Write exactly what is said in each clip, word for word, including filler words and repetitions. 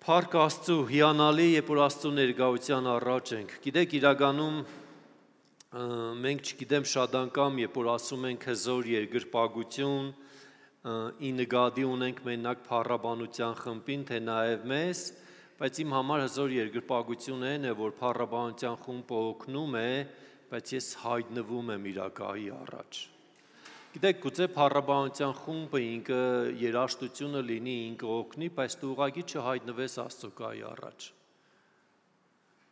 Փառք Աստծո, հիանալի երբ որ Աստծո ներկայության առաջ ենք։ Գիտեք, իրականում մենք չգիտեմ շատ անգամ, երբ որ ասում ենք հզոր երկրպագություն, ի նկատի ունենք մենակ փառաբանության խմբին, թե նաև մեզ, բայց իմ համար հզոր երկրպագություն այն է, որ փառաբանության խումբը օգնում է, բայց ես հայտնվում եմ իրակայի առաջ։ Գիտեք, գուցե փառաբանության խումբը ինքը երաժշտությունը լինի, ինքը օգնի, բայց դու ուղղակի չհայտնվես Աստծո կայի առաջ։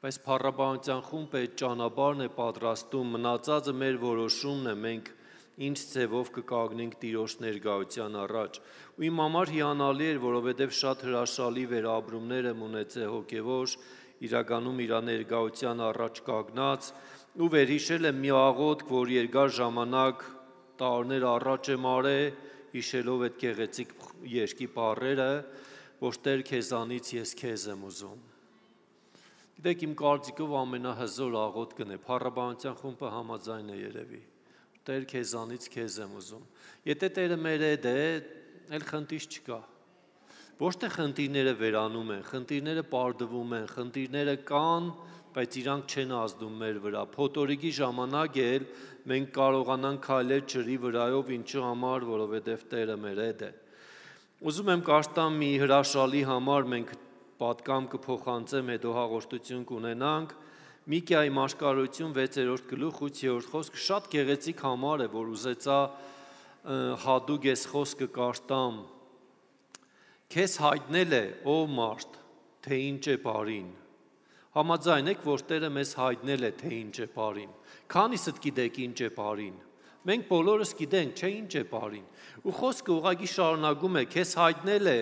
Բայց փառաբանության խումբը այդ ճանապարհն է պատրաստում, մնացածը մեր որոշումն է, մենք ինչ ձևով կկանգնենք Տիրոջ ներկայության առաջ։ Ու իմ համար հիանալի էր, որովհետև շատ հրաշալի վերաբերումներ եմ ունեցել հոգևոր, իրականում իր ներկայության առաջ կանգնած, ու վերհիշել եմ մի աղոթք, որ երկար ժամանակ տարիներ առաջ եմ արել, հիշելով այդ գեղեցիկ երգի բառերը, որ Տեր քեզանից ես քեզ եմ ուզում։ Գիտեք, իմ կարծիքով ամենահզոր աղոթքն է, փառաբանության խումբը համաձայն է երևի։ Տեր քեզանից քեզ եմ ուզում։ Եթե Տերը մեր հետ է, էլ խնդիր չկա։ Ոչ թե խնդիրները վերանում են, խնդիրները պարդվում են, խնդիրները կան, բայց իրանք չեն ազդում մեր վրա։ Փոթորիկի ժամանակ էլ մենք կարողանանք քայլել ջրի վրայով, ինչու համար, որովհետև Տերը մեր հետ է։ Ուզում եմ կարդամ մի հրաշալի համար, մենք պատկամ կփոխանցեմ, հետո հաղորդություն կունենանք։ Միքիայի մարգարեություն վեցերորդ գլուխ ութերորդ խոսք, շատ գեղեցիկ համար է, որ ուզեցա հատուկ այս խոսքը կարդամ։ Քեզ հայտնել է, ով մարդ, թե ինչ է բարին։ Համաձայն եք, որ Տերը մեզ հայտնել է, թե ինչ է բարին։ Քանիսդ գիտեք ինչ է բարին։ Մենք բոլորս գիտենք, չէ՞ ինչ է բարին։ Ու խոսքը ուղղակի շարունակում է, քեզ հայտնել է,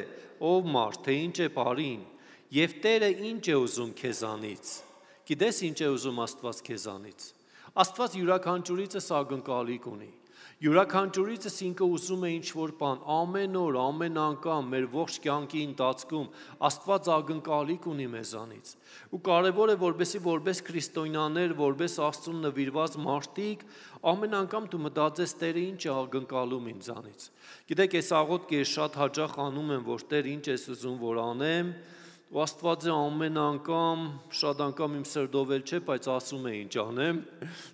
ով մարդ, թե ինչ է բարին, եւ Տերը ինչ է ուզում քեզանից։ Գիտես ինչ է ուզում Աստված քեզանից։ Աստված յուրաքանչյուրիցս ակնկալիք ունի։ Յուրաքանչյուրիցս ինքը ուզում է ինչ-որ բան, ամեն օր, ամեն անգամ մեր ողջ կյանքի ընթացքում Աստված ակնկալիք ունի մեզանից։ Ու կարևոր է, որպեսզի որպես քրիստոնյաներ, որպես Աստծուն նվիրված մարդիկ, ամեն անգամ դու մտածես Տերը ինչ է ակնկալում ինձանից։ Գիտեք, այս աղոթքը շատ հաճախ անում եմ, որ Տեր ինչ ես ուզում որ անեմ, ու Աստվածը ամեն անգամ, շատ անգամ իմ սրտով էլ չէ, բայց ասում է ինչ անեմ։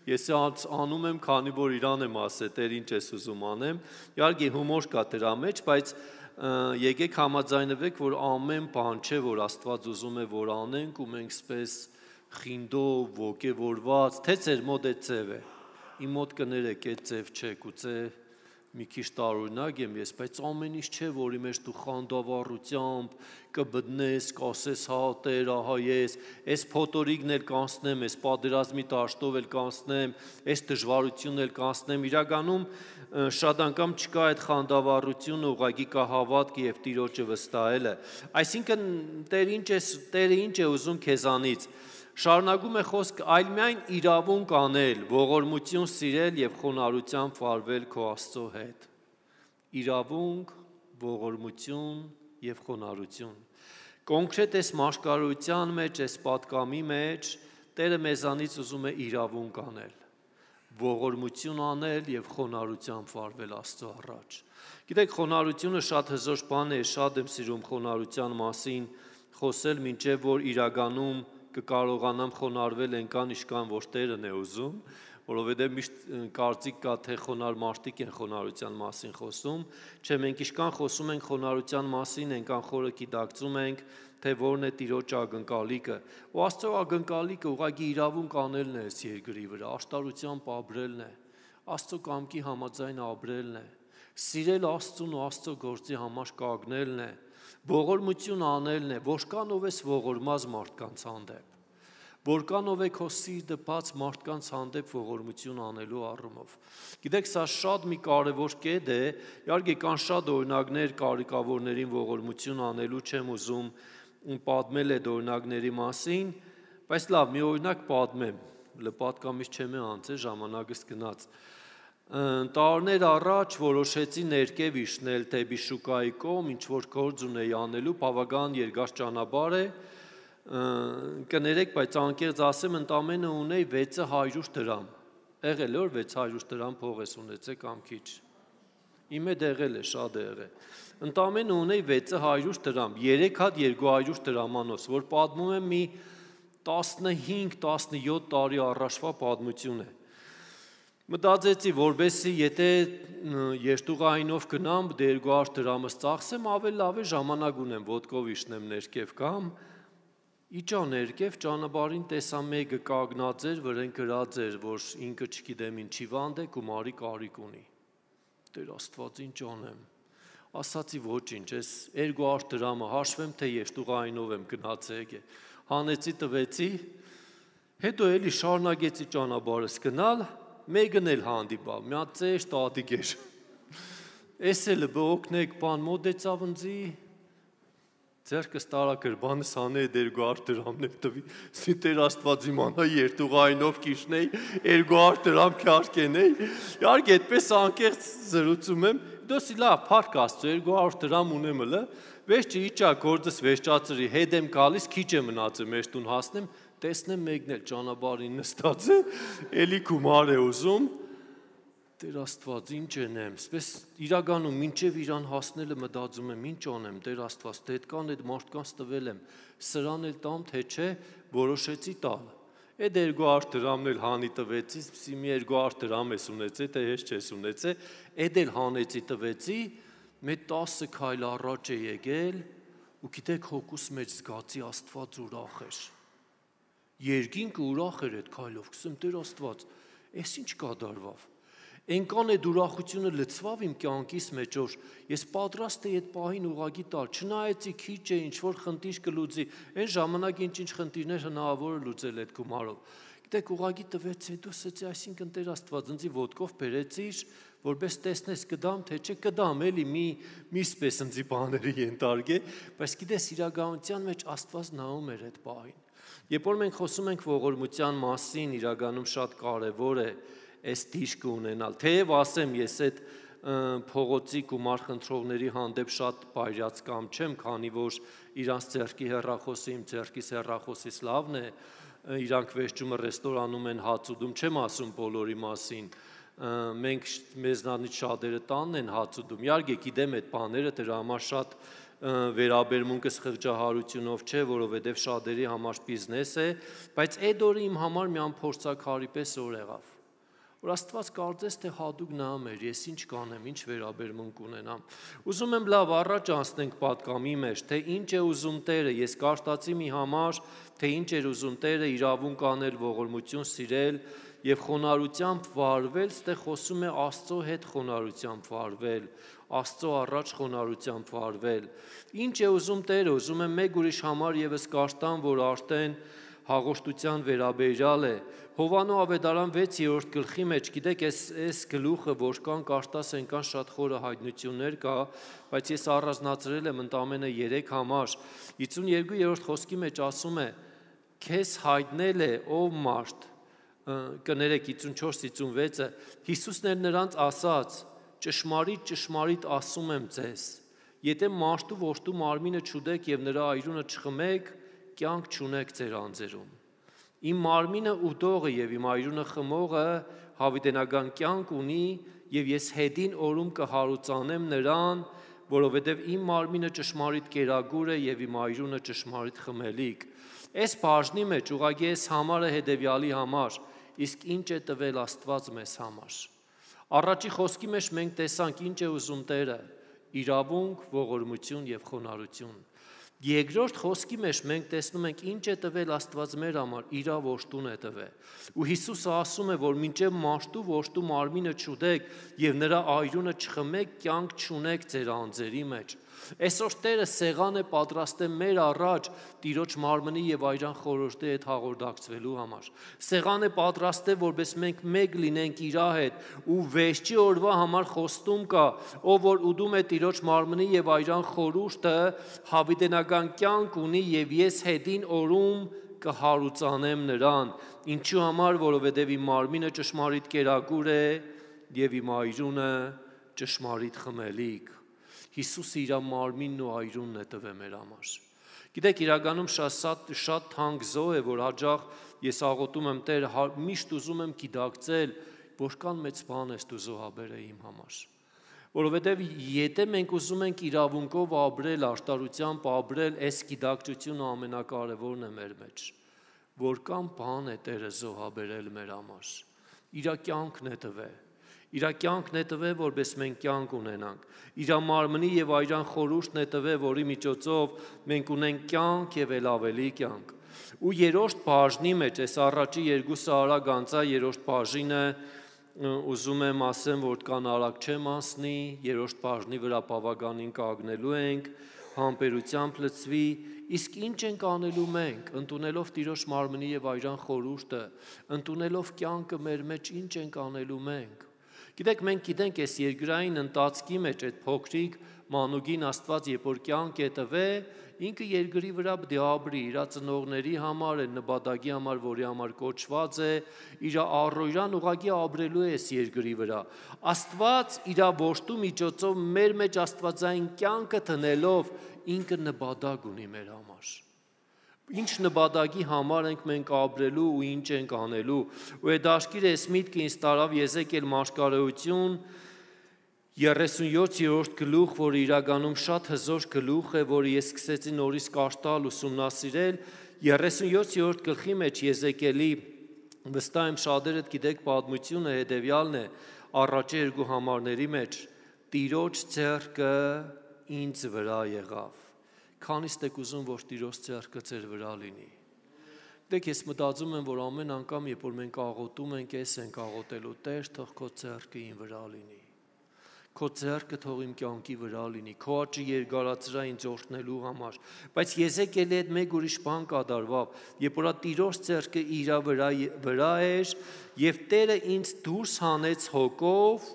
Ես անում եմ, քանի որ իրան եմ ասել, Տեր ինչ ես ուզում անեմ։ Իհարկե հումոր կա դրա մեջ, բայց եկեք համաձայնվեք, որ ամեն բան չէ, որ Աստված ուզում է որ անենք, ու մենք սպես խինդով, ոգևորված, թե ձեր մոտ է ձև է։ Իմ մոտ կներեք, այդ ձև չէ, գուցե մի քիչ տարօրինակ եմ ես, բայց ամեն ինչ չէ, որի մեջ դու խանդավառությամբ կբտնես, կասես, հա Տեր, ահա ես, այս փոթորիկն էլ կանցնեմ, այս պատերազմի դաշտով էլ կանցնեմ, այս դժվարությունն էլ կանցնեմ։ Իրականում շատ անգամ չկա այդ խանդավառությունը, ուղղակի կա հավատքը եւ Տիրոջը վստահելը։ Այսինքն Տեր ինչ է, Տերը ինչ է ուզում քեզանից։ Շարունակում է խոսքը, այլ միայն իրավունք անել, ողորմություն սիրել եւ խոնարհությամբ վարվել քո Աստծո հետ։ Իրավունք, ողորմություն եւ խոնարհություն։ Կոնկրետ այս մարգարեության մեջ, այս պատկամի մեջ Տերը մեզանից ուզում է իրավունք անել, ողորմություն անել եւ խոնարհությամբ վարվել Աստծո առաջ։ Գիտեք, խոնարհությունը շատ հզոր բան է, շատ եմ սիրում խոնարհության մասին խոսել, մինչեւ որ իրականում կկարողանամ խոնարհվել այնքան, ինչքան որ Տերն է ուզում, որովհետև միշտ կարծիք կա, թե խոնարհ մարդիկ են խոնարհության մասին խոսում, չէ, մենք ինչքան խոսում ենք խոնարհության մասին, այնքան խորը գիտակցում ենք, թե որն է Տիրոջ ակնկալիքը։ Ու Աստծո ակնկալիքը ուղղակի իրավունք անելն է այս երկրի վրա, աշտարությամբ ապրելն է, Աստծո կամքի համաձայն ապրելն է, սիրել Աստծուն ու Աստծո գործի համար կանգնելն է, ողորմություն անելն է, որքանով ես ողորմած մարդկանց հանդեպ, որքանով է քո սիրտը բաց մարդկանց հանդեպ ողորմություն անելու առումով։ Գիտեք, սա շատ մի կարևոր կետ է, իհարկե կան շատ օրինակներ կարիքավորներին ողորմություն անելու, չեմ ուզում պատմել այդ օրինակների մասին, բայց լավ, մի օրինակ պատմեմ, լպատկամից չեմ անցել, ժամանակս գնաց։ Տարիներ առաջ որոշեցի ներքև իջնել դեպի շուկայի կողմ, ինչ որ գործ ունեի անելու, բավական երկար ճանապարհ է, կներեք, բայց անկեղծ ասեմ, ընդամենը ունեի վեց հարյուր դրամ։ Եղել է որ վեց հարյուր դրամ փող ես ունեցել կամ քիչ։ Իմ հետ եղել է, շատ է եղել։ Ընդամենը ունեի վեցը հարյուր դրամ, երեք հատ երկու հարյուր դրամանոց, որ պատմում եմ մի տասնհինգ տասնյոթ տարի առաջվա պատմություն է։ Մտածեցի, որբեսի եթե երթուղայինով գնամ, երկու հարյուր դրամս ծախսեմ, ավելի լավ է ժամանակ ունեմ ոտքով իջնեմ ներքև կամ իջա ներքև ճանապարհին տեսա մեկը կանգնած էր, վրան գրած էր, որ ինքը չգիտեմ ինչի վանդ է, գումարի կարիք ունի։ Տեր Աստված, ինչ անեմ։ Ասացի ոչինչ, ես երկու հարյուր դրամը հաշվեմ, թե երթուղայինով եմ գնացել։ Հանեցի տվեցի, հետո էլի շարունակեցի ճանապարհս գնալ, մեկն էլ հանդիպա, մի հատ ծեր տատիկ էր։ Էս էլ բօգնեք, բան մոտեցավ ինձի, ձեռքս տարա գրբանս հանե երկու հարյուր դրամն էլ տվի, սի Տեր Աստված իմանա երթուղայինով կիջնեի, երկու հարյուր դրամ քարկենեի, իհարկե այդպես անկեղծ զրուցում եմ, դոսի լավ, փառք Աստծո, երկու հարյուր դրամ ունեմ հլը, վերջը իջա գործս վերջացրի, հետ եմ գալիս, քիչ է մնացել մեր տուն հասնեմ, տեսնեմ մեկն էլ ճանապարհին նստած է, էլի գումար է ուզում, Տեր Աստված, ինչ ենեմ, սպես իրականում մինչև իրան հասնելը մտածում եմ, ինչ անեմ, Տեր Աստված, դե այդքան այդ մարդկանց տվել եմ, սրան էլ տամ, թե չէ, որոշեցի տալ։ Այդ երկու հարյուր դրամն էլ հանի տվեցի, սի մի երկու հարյուր դրամ ես ունեցել, թե ես չես ունեցել, այդ էլ հանեցի տվեցի, մեկ տասը քայլ առաջ է եկել, ու գիտեք հոգուս մեջ զգացի Աստված ուրախ էր։ Երկինքը ուրախ էր այդ քայլով, ասում Տեր Աստված, այս ինչ կատարվավ։ Այնքան այդ ուրախությունը լցվավ իմ կյանքիս մեջ, որ ես պատրաստ էի այդ պահին ուղղակի տալ, չնայեցի քիչ է ինչ որ խնդիր կլուծի, այն ժամանակ ինչ-ինչ խնդիրներ հնարավոր է լուծել այդ գումարով։ Գիտեք, ուղղակի տվեց, հետո ասեցի, այսինքն Տեր Աստված, ինձ ոտքով բերեցիր, որպես տեսնես կդամ, թե չէ կդամ, էլի մի մի սպես ինձ բաների ենթարկե, բայց գիտես իրականության մեջ Աստված նայում էր այդ պահին։ Երբ որ մենք խոսում ենք ողորմության մասին, իրականում շատ կարևոր է այս դիշկը ունենալ, թեև ասեմ ես այդ փողոցի գումար խնդրողների հանդեպ շատ բայրած կամ չեմ, քանի որ իրանց ձեռքի հեռախոսը իմ ձեռքիս հեռախոսից լավն է, իրանք վերջումը ռեստորանում են հաց ուտում, չեմ ասում բոլորի մասին, մենք մեզնանից շատերը տանն են հաց ուտում, իհարկե գիտեմ այդ բաները, դրա համար շատ վերաբերմունքս խղճահարությունով չէ, որովհետև շատերի համար բիզնես է, բայց այդ օրը իմ համար մի ամփորձակարի պես օր եղավ, որ Աստված կարծես թե հատուկ նայում էր, ես ինչ կանեմ, ինչ վերաբերմունք ունենամ։ Ուզում եմ լավ առաջ անցնենք պատկամի մեջ, թե ինչ է ուզում Տերը, ես կարդացի մի համար, թե ինչ էր ուզում Տերը իրավունք անել, ողորմություն սիրել եւ խոնարհությամբ վարվել, ստե խոսում է Աստծո հետ խոնարհությամբ վարվել, Աստծո առաջ խոնարհությամբ վարվել։ Ինչ է ուզում Տերը, ուզում եմ մեկ ուրիշ համար եւս կարդամ, որ արդեն հաղորդության վերաբերյալ է։ Հովանո ավետարան վեցերորդ գլխի մեջ, գիտեք, այս այս գլուխը որքան կարդաս այնքան շատ խորը հայտնություններ կա, բայց ես առանձնացրել եմ ընդամենը երեք համար։ հիսունյոթերորդ խոսքի մեջ ասում է. Քեզ հայտնել է ով մարդ, կներեք հիսունչորս հիսունվեցը, Հիսուսն էր նրանց ասաց. ճշմարիտ ճշմարիտ ասում եմ ձեզ, եթե մարդու որդու մարմինը չուտեք եւ նրա այրունը չխմեք, կյանք չունեք ձեր անձերում։ Իմ մարմինը ուտողը եւ իմ այրունը խմողը հավիտենական կյանք ունի եւ ես հետին օրում կհարուցանեմ նրան, որովհետեւ իմ մարմինը ճշմարիտ կերագուր է եւ իմ այրունը ճշմարիտ խմելիք։ Այս բաժնի մեջ ուղղակի այս համարը հետեւյալի համար, իսկ ինչ է տվել Աստված մեզ համար։ Առաջի խոսքի մեջ մենք տեսանք ինչ է ուզում Տերը՝ իրավունք, ողորմություն եւ խոնարհություն։ Երկրորդ խոսքի մեջ մենք տեսնում ենք ինչ է տվել Աստված մեր համար, իր որդուն է տվել։ Ու Հիսուսը ասում է, որ մինչև մարդու որդու մարմինը չուտեք եւ նրա այրունը չխմեք, կյանք չունեք ձեր անձերի մեջ։ Այսօր Տերը սեղան է պատրաստել մեր առաջ Տիրոջ մարմնի եւ այրան խորհրդի հետ հաղորդակցվելու համար։ Սեղան է պատրաստել, որպես մենք մեկ լինենք իր հետ ու վերջի օրվա համար խոստում կա, ով որ ուտում է Տիրոջ մարմնի եւ այրան խորհուրդը, հավիտենական կյանք ունի եւ ես հետին օրում կհարուցանեմ նրան։ Ինչու համար, որովհետեւ իմ մարմինը ճշմարիտ կերակուր է եւ իմ այրունը ճշմարիտ խմելիք։ Հիսուսը իր մարմինն ու այրունն է տվել մեր համար։ Գիտեք, իրականում շատ շատ թանկ զոհ է, որ հաջող ես աղոթում եմ Տեր, միշտ ուզում եմ գիտակցել, որքան մեծ բան ես դու զոհաբերել իմ համար։ Որովհետև եթե մենք ուզում ենք իրավունքով ապրել, աշտարությամբ ապրել, այս գիտակցությունը ամենակարևորն է մեր մեջ, որքան բան է Տերը զոհաբերել մեր համար, իր կյանքն է տվել, իր կյանքն է տվել, որպես մենք կյանք ունենանք, իր մարմնի եւ այրան խորհուրդն է տվել, որի միջոցով մենք ունենք կյանք եւ ել ավելի կյանք։ Ու երրորդ բաժնի մեջ, այս առաջի երկուսը արագ անցա, երրորդ բաժինը ուզում եմ ասեմ, որքան արագ չեմ անցնի, երրորդ բաժնի վրա բավականին կանգնելու ենք, համբերությամբ լցվի, իսկ ինչ ենք անելու մենք, ընդունելով Տիրոջ մարմնի եւ այրան խորհուրդը, ընդունելով կյանքը մեր մեջ ինչ ենք անելու մենք։ Գիտեք, մենք գիտենք այս երկրային ընթացքի մեջ այդ փոքրիկ մանուկին Աստված երբ որ կյանք է տվել, ինքը երկրի վրա պետք է ապրի, իր ծնողների համար, այն նպատակի համար, որի համար կոչված է, իր առօրյան ուղղակի ապրելու է այս երկրի վրա։ Աստված իր որդու միջոցով մեր մեջ աստվածային կյանքը տնելով ինքը նպատակ ունի մեր համար։ Ինչ նպատակի համար ենք մենք ապրելու ու ինչ ենք անելու։ Ու այդ աշկիրը այս միտքը ինձ տարավ Եզեկիել մարգարեություն երեսունյոթերորդ գլուխ, որը իրականում շատ հզոր գլուխ է, որը ես սկսեցի նորից կարդալ, ուսումնասիրել, երեսունյոթերորդ գլխի մեջ Եզեկիելի վստահ եմ շատերդ գիտեք պատմությունը հետևյալն է, առաջի երկու համարների մեջ Տիրոջ ձեռքը ինձ վրա եղավ։ Քանիստ եք ուզում, որ Տիրոջ ձեռքը ձեր վրա լինի։ Դեք ես մտածում եմ, որ ամեն անգամ, երբ որ մենք աղոթում ենք, ես ենք աղոթելու, Տեր, թող քո ձեռքը իմ վրա լինի։ Քո ձեռքը թող իմ կյանքի վրա լինի, քո աճը երկարացրա ինձ օրհնելու համար։ Բայց Եզեկիելի հետ մեկ ուրիշ բան կատարվավ, երբ որ Տիրոջ ձեռքը իր վրա վրա էր, եւ Տերը ինձ դուրս հանեց հոգով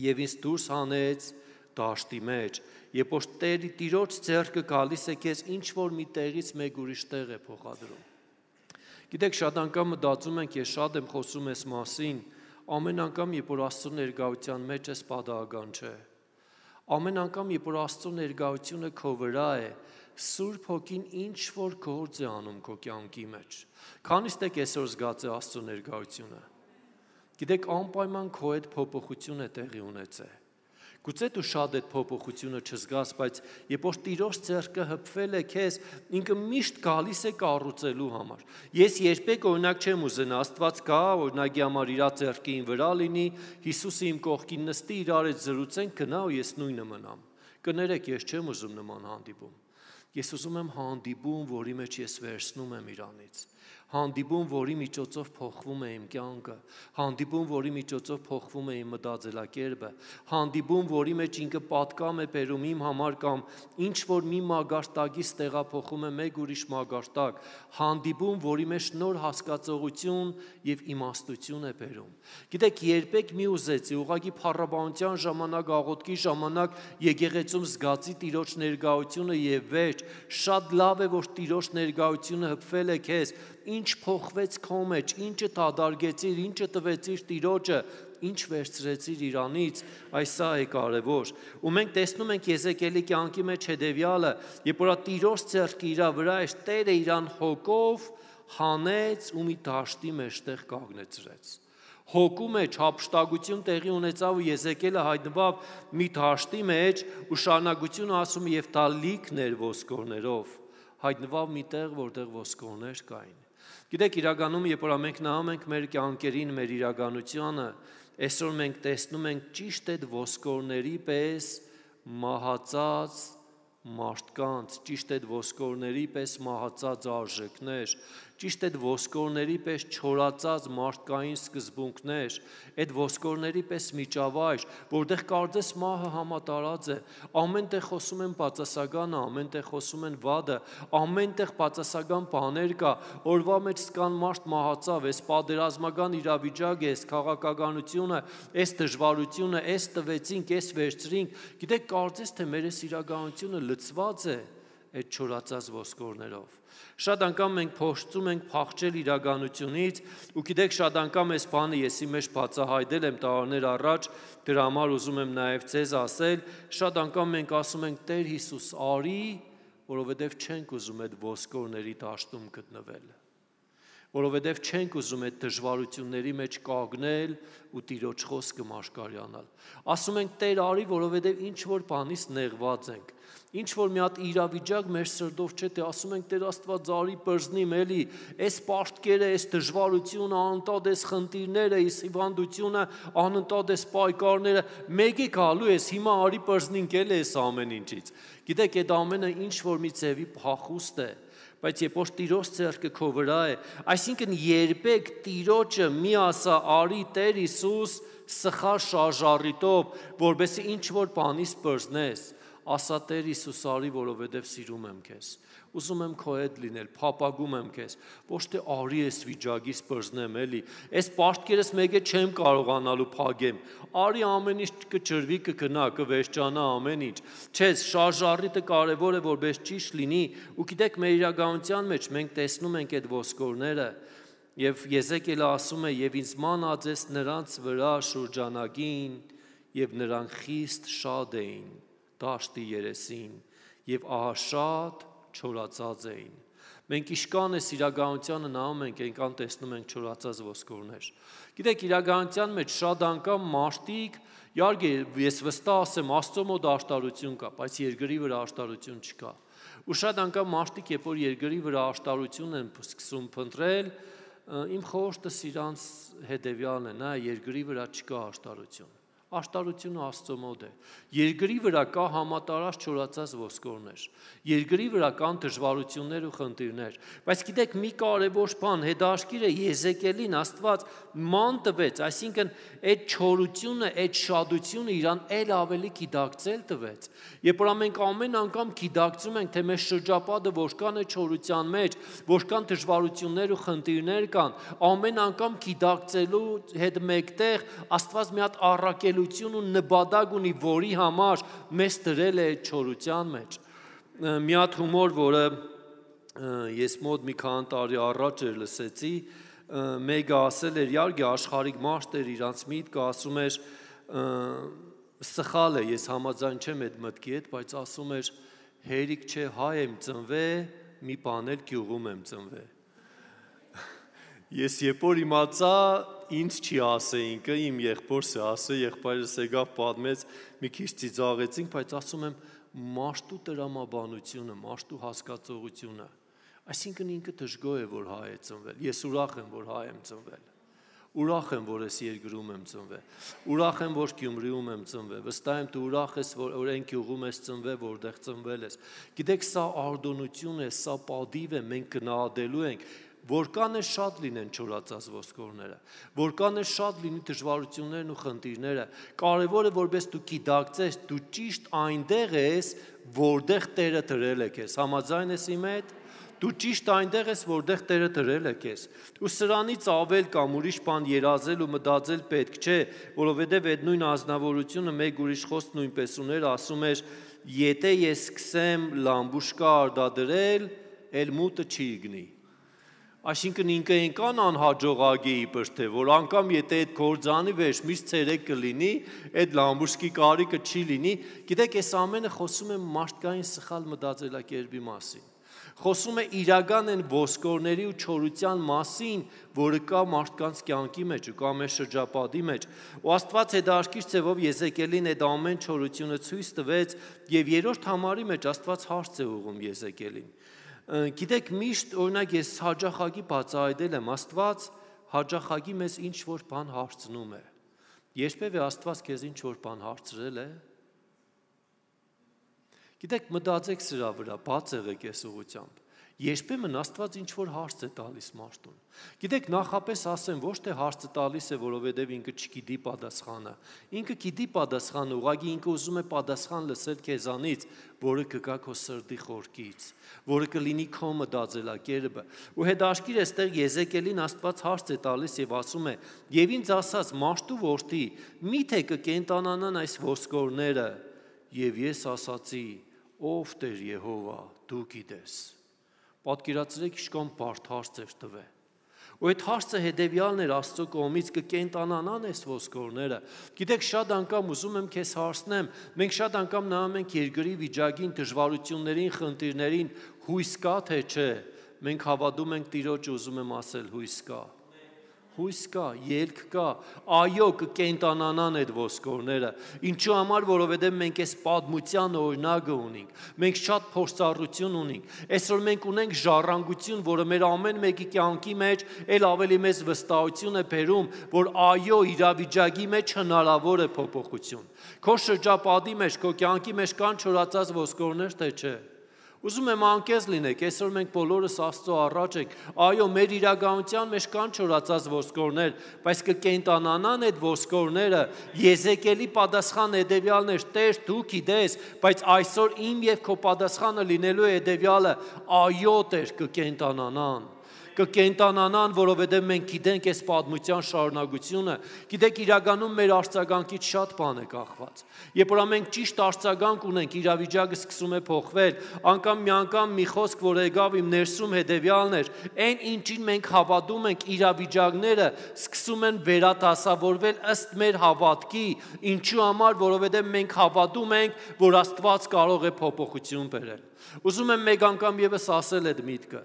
եւ ինձ դուրս հանեց դաշտի մեջ։ Երբ որ Տերի Տիրոջ ձեռքը գալիս է քեզ ինչ որ մի տեղից մեկ ուրիշ տեղ է փոխադրում։ Գիտեք, շատ անգամ մտածում ենք, ես շատ եմ խոսում այս մասին, ամեն անգամ, երբ որ Աստծո ներկայության մեջ ես, պատահական չէ։ Ամեն անգամ, երբ որ Աստծո ներկայությունը քո վրա է, Սուրբ Հոգին ինչ որ գործ է անում քո կյանքի մեջ։ Քանիստ եք այսօր զգացել Աստծո ներկայությունը։ Գիտեք, անպայման քո հետ փոփոխություն է տեղի ունեցել։ Գուցե դու շատ այդ փոփոխությունը չզգաս, բայց երբ որ Տիրոջ ձեռքը հպվել է քեզ, ինքը միշտ գալիս է կառուցելու համար։ Ես երբեք օրինակ չեմ ուզենա Աստված գա, օրինակի համար իր ձեռքին վրա լինի, Հիսուսը իմ կողքին նստի, իրար հետ զրուցենք, գնա ու ես նույնը մնամ։ Կներեք, ես չեմ ուզում նման հանդիպում։ Ես ուզում եմ հանդիպում, որի մեջ ես վերցնում եմ իրանից։ Հանդիպում, որի միջոցով փոխվում է իմ կյանքը, հանդիպում, որի միջոցով փոխվում է իմ մտածելակերպը, հանդիպում, որի մեջ ինքը պատկամ է բերում իմ համար կամ ինչ որ մի մագարտակից տեղափոխում է մեկ ուրիշ մագարտակ, հանդիպում, որի մեջ նոր հասկացողություն եւ իմաստություն է բերում։ Գիտեք, երբեք մի ուզեցի, ուղղակի փառաբանության ժամանակ, աղոթքի ժամանակ եկեղեցում զգացի Տիրոջ ներկայությունը եւ վերջ, շատ լավ է, որ Տիրոջ ներկայությունը հպվել է քեզ, ինչ փոխվեց քո մեջ, ինչը դադարգեցիր, ինչը տվեցիր Տիրոջը, ինչ վերցրեցիր իրանից, այս սա է կարևոր։ Ու մենք տեսնում ենք Եզեկիելի կյանքի մեջ հետևյալը, երբ որ Տիրոջ ձեռքը իր վրա էր, Տերը իրան հոգով հանեց ու մի դաշտի մեջտեղ կանգնեցրեց։ Հոգու մեջ հափշտակություն տեղի ունեցավ ու Եզեկիելը հայտնվավ մի դաշտի մեջ ու շարունակությունը ասում է եւ դա լիքն էր ոսկորներով, հայտնվավ մի տեղ, որտեղ ոսկորներ կային։ Գիտեք, իրականում, երբ որ մենք նայում ենք մեր կյանքերին, մեր իրականությանը, այսօր մենք տեսնում ենք ճիշտ այդ ոսկորների պես մահացած մարդկանց, ճիշտ այդ ոսկորների պես մահացած արժեքներ, ճիշտ այդ ոսկորների պես չորացած մարդկային սկզբունքներ, այդ ոսկորների պես միջավայր, որտեղ կարծես մահը համատարած է, ամեն տեղ խոսում են բացասականը, ամեն տեղ խոսում են վադը, ամեն տեղ բացասական բաներ կա, օրվա մեջ սկան մարդ մահացավ, այս պատերազմական իրավիճակը, այս քաղաքականությունը, այս դժվարությունը, այս տվեցինք, այս վերցրինք, գիտեք, կարծես թե մեր այս իրականությունը լցված է այդ չորացած ոսկորներով։ Շատ անգամ մենք փորձում ենք փախչել իրականությունից ու գիտեք շատ անգամ այս բանը ես իմ մեջ բացահայտել եմ տարիներ առաջ, դրա համար ուզում եմ նաև ձեզ ասել, շատ անգամ մենք ասում ենք Տեր Հիսուս արի, որովհետև չենք ուզում այդ ոսկորների դաշտում գտնվել։ որովհետև չենք ուզում այդ դժվարությունների մեջ կանգնել ու Տիրոջ խոսքը մաշկարյանալ։ Ասում ենք Տեր արի, որովհետև ինչ որ բանից նեղված ենք։ Ինչ որ մի հատ իրավիճակ մեր սրտով չէ, թե ասում ենք Տեր Աստված արի բրզնիմ էլի, այս պարտքերը, այս դժվարությունը, անընդհատ այս խնդիրները, այս հիվանդությունը, անընդհատ այս պայքարները, մեկ է գալու ես, հիմա արի բրզնինք էլ այս ամեն ինչից։ Գիտեք, այդ ամենը ինչ որ մի ձևի փախուստ է, բայց երբ որ Տիրոջ ձեռքը քո վրա է, այսինքն երբեք Տիրոջը մի ասա արի Տեր Հիսուս սխալ շարժառիթով, որովհետեւ ինչ որ բանից բրզնես, ասա Տեր Հիսուս արի, որովհետև սիրում եմ քեզ, ուզում եմ քո հետ լինել, փափագում եմ քեզ, ոչ թե արի ես վիճակից բրզնեմ էլի, այս պարտքերս մեկը չեմ կարողանալու փագեմ, արի ամեն ինչ կջրվի, կգնա, կվերջանա ամեն ինչ, չէ, շարժառիթը կարևոր է, որպես ճիշտ լինի, ու գիտեք մեր իրականության մեջ մենք տեսնում ենք այդ ոսկորները, եւ Եզեկիելը ասում է, եւ ինձ մանածես նրանց վրա շուրջանակին, եւ նրանք խիստ շատ էին դաշտի երեսին եւ ահա շատ չորացած էին։ Մենք իշքան այս իրականությանը նայում ենք, այնքան տեսնում ենք չորացած ոսկորներ։ Գիտեք, իրականության մեջ շատ անգամ մարդիկ, իհարկե, ես վստահ ասեմ, Աստծո մոտ աշտարություն կա, բայց երկրի վրա աշտարություն չկա։ Ու շատ անգամ մարդիկ, երբ որ երկրի վրա աշտարություն են սկսում փնտրել, իմ խորհուրդս իրանց հետևյալն է, նա երկրի վրա չկա աշտարություն։ Աշտարությունը Աստծո մոտ է։ Երկրի վրա կա համատարած չորացած ոսկորներ։ Երկրի վրա կան դժվարություններ ու խնդիրներ։ Բայց գիտեք, մի կարևոր բան, հետաքրքիրը Եզեկիելին Աստված ման տվեց, այսինքն այդ չորությունը, այդ շատությունը իրան էլ ավելի գիտակցել տվեց։ Երբ որ մենք ամեն անգամ գիտակցում ենք, թե մեր շրջապատը որքան է չորության մեջ, որքան դժվարություններ ու խնդիրներ կան, ամեն անգամ գիտակցելու հետ մեկտեղ Աստված մի հատ առաքել ու նպատակ ունի, որի համար մեզ դրել է չորության մեջ։ Մի հատ հումոր, որը ես մոտ մի քանի տարի առաջ էր լսեցի, մեկը ասել էր, իհարկե աշխարհիկ մարդ էր, իրանց միտքը ասում էր, սխալ է, ես համաձայն չեմ այդ մտքի հետ, բայց ասում էր, հերիք չէ, հայ եմ ծնվել, մի բան էլ գյուղում եմ ծնվել։ Ես երբ որ իմացա, ինձ չի ասե ինքը, իմ եղբորս է ասե, եղբայրս եկավ պատմեց, մի քիչ ծիծաղեցինք, բայց ասում եմ մարդու տրամաբանությունը, մարդու հասկացողությունը, այսինքն ինքը դժգոհ է, որ հայ է ծնվել, ես ուրախ եմ, որ հայ եմ ծնվել, ուրախ եմ, որ ես երկրում եմ ծնվել, ուրախ եմ, որ Գյումրիում եմ ծնվել, վստահ եմ դու ուրախ ես, որ այն գյուղում ես ծնվել, որտեղ ծնվել ես։ Գիտեք, սա արտոնություն է, սա պատիվ է, մենք գնահատելու ենք, որքան է շատ լինեն չորացած ոսկորները, որքան է շատ լինի դժվարություններն ու խնդիրները, կարևորը որպես դու գիտակցես, դու ճիշտ այնտեղ ես, որտեղ Տերը դրել է քեզ, համաձայն ես իմ հետ, դու ճիշտ այնտեղ ես, որտեղ Տերը դրել է քեզ, ու սրանից ավել կամ ուրիշ բան երազել ու մտածել պետք չէ, որովհետև այդ նույն ազնվորությունը մեկ ուրիշ խոսք նույնպես ուներ, ասում էր, եթե ես սկսեմ լամբուշկա արտադրել, էլ մուտը չի գնի։ Այսինքն ինքը այնքան անհաջողակ է իբր թե, որ անգամ եթե այդ գործանի վեր միշտ ցերեկ կլինի, այդ լամբուշկի կարիքը չի լինի, գիտեք, այս ամենը խոսում է մարդկային սխալ մտածելակերպի մասին։ Խոսում է իրական են ոսկորների ու չորության մասին, որը կա մարդկանց կյանքի մեջ ու կա մեր շրջապատի մեջ։ Ու Աստված հետաքրքիր ձևով Եզեկիելին այդ ամեն չորությունը ցույց տվեց, եւ երրորդ համարի մեջ Աստված հարց է ուղղում Եզեկիելին։ Գիտեք, միշտ օրինակ ես հաճախակի բացահայտել եմ, Աստված հաճախակի մեզ ինչ որ բան հարցնում է։ Երբևէ Աստված քեզ ինչ որ բան հարցրել է։ Գիտեք, մտածեք սրա վրա, բաց եղեք այս ուղղությամբ։ Երբեմն Աստված ինչ որ հարց է տալիս մարդուն։ Գիտեք, նախապես ասեմ, ոչ թե հարցը տալիս է, որովհետև ինքը չգիտի պատասխանը։ Ինքը գիտի պատասխանը, ուղղակի ինքը ուզում է պատասխան լսել քեզանից, որը կգա քո սրտի խորքից, որը կլինի քո մտածելակերպը։ Ու հետաքրքիր է, այստեղ Եզեկիելին Աստված հարց է տալիս եւ ասում է. «Եվ ինձ ասաց, մարդու որդի, միթե կկենտանանան այս ոսկորները»։ Եվ ես ասացի. «Ով Տեր Եհովա, դու գիտես»։ Պատկերացրեք, ինչքան բարդ հարց էր տվել։ Ու այդ հարցը հետևյալն էր Աստծո կողմից, կկենտանանան այս ոսկորները։ Գիտեք, շատ անգամ ուզում եմ քեզ հարցնեմ, մենք շատ անգամ նայում ենք երկրի վիճակին, դժվարություններին, խնդիրներին, հույս կա թե չէ, մենք հավատում ենք Տիրոջ, ուզում եմ ասել հույս կա։ Հույս կա, ելք կա, այո, կկենտանանան այդ ոսկորները, ինչու համար, որովհետև մենք այս պատմության օրինակը ունենք, մենք շատ փորձառություն ունենք, այսօր մենք ունենք ժառանգություն, որը մեր ամեն մեկի կյանքի մեջ էլ ավելի մեծ վստահություն է բերում, որ այո, իրավիճակի մեջ հնարավոր է փոփոխություն։ Քո շրջապատի մեջ, քո կյանքի մեջ կան չորացած ոսկորներ, թե չէ։ Ուզում եմ անկեղծ լինեք, այսօր մենք բոլորս Աստծո առաջ ենք, այո, մեր իրականության մեջ կան չորացած ոսկորներ, բայց կկենտանանան այդ ոսկորները, Եզեկիելի պատասխանը հետևյալն էր, Տեր, դու գիտես, բայց այսօր իմ և քո պատասխանը լինելու է հետևյալը, այո, Տեր, կկենտանանան։ Կկենտանանան, որովհետև մենք գիտենք այս պատմության շարունակությունը, գիտեք իրականում մեր արձագանքից շատ բան է կախված։ Երբ որ մենք ճիշտ արձագանք ունենք, իրավիճակը սկսում է փոխվել, անգամ մի անգամ մի խոսք, որ եկավ իմ ներսում հետևյալն էր, այն ինչին մենք հավատում ենք, իրավիճակները սկսում են վերադասավորվել ըստ մեր հավատքի, ինչու համար, որովհետև մենք հավատում ենք, որ Աստված կարող է փոփոխություն բերել։ Ուզում եմ մեկ անգամ ևս ասել այդ միտքը,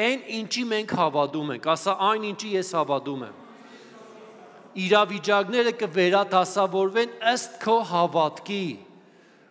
այն ինչի մենք հավատում ենք, ասա այն ինչի ես հավատում եմ, իրավիճակները կվերադասավորվեն ըստ քո հավատքի,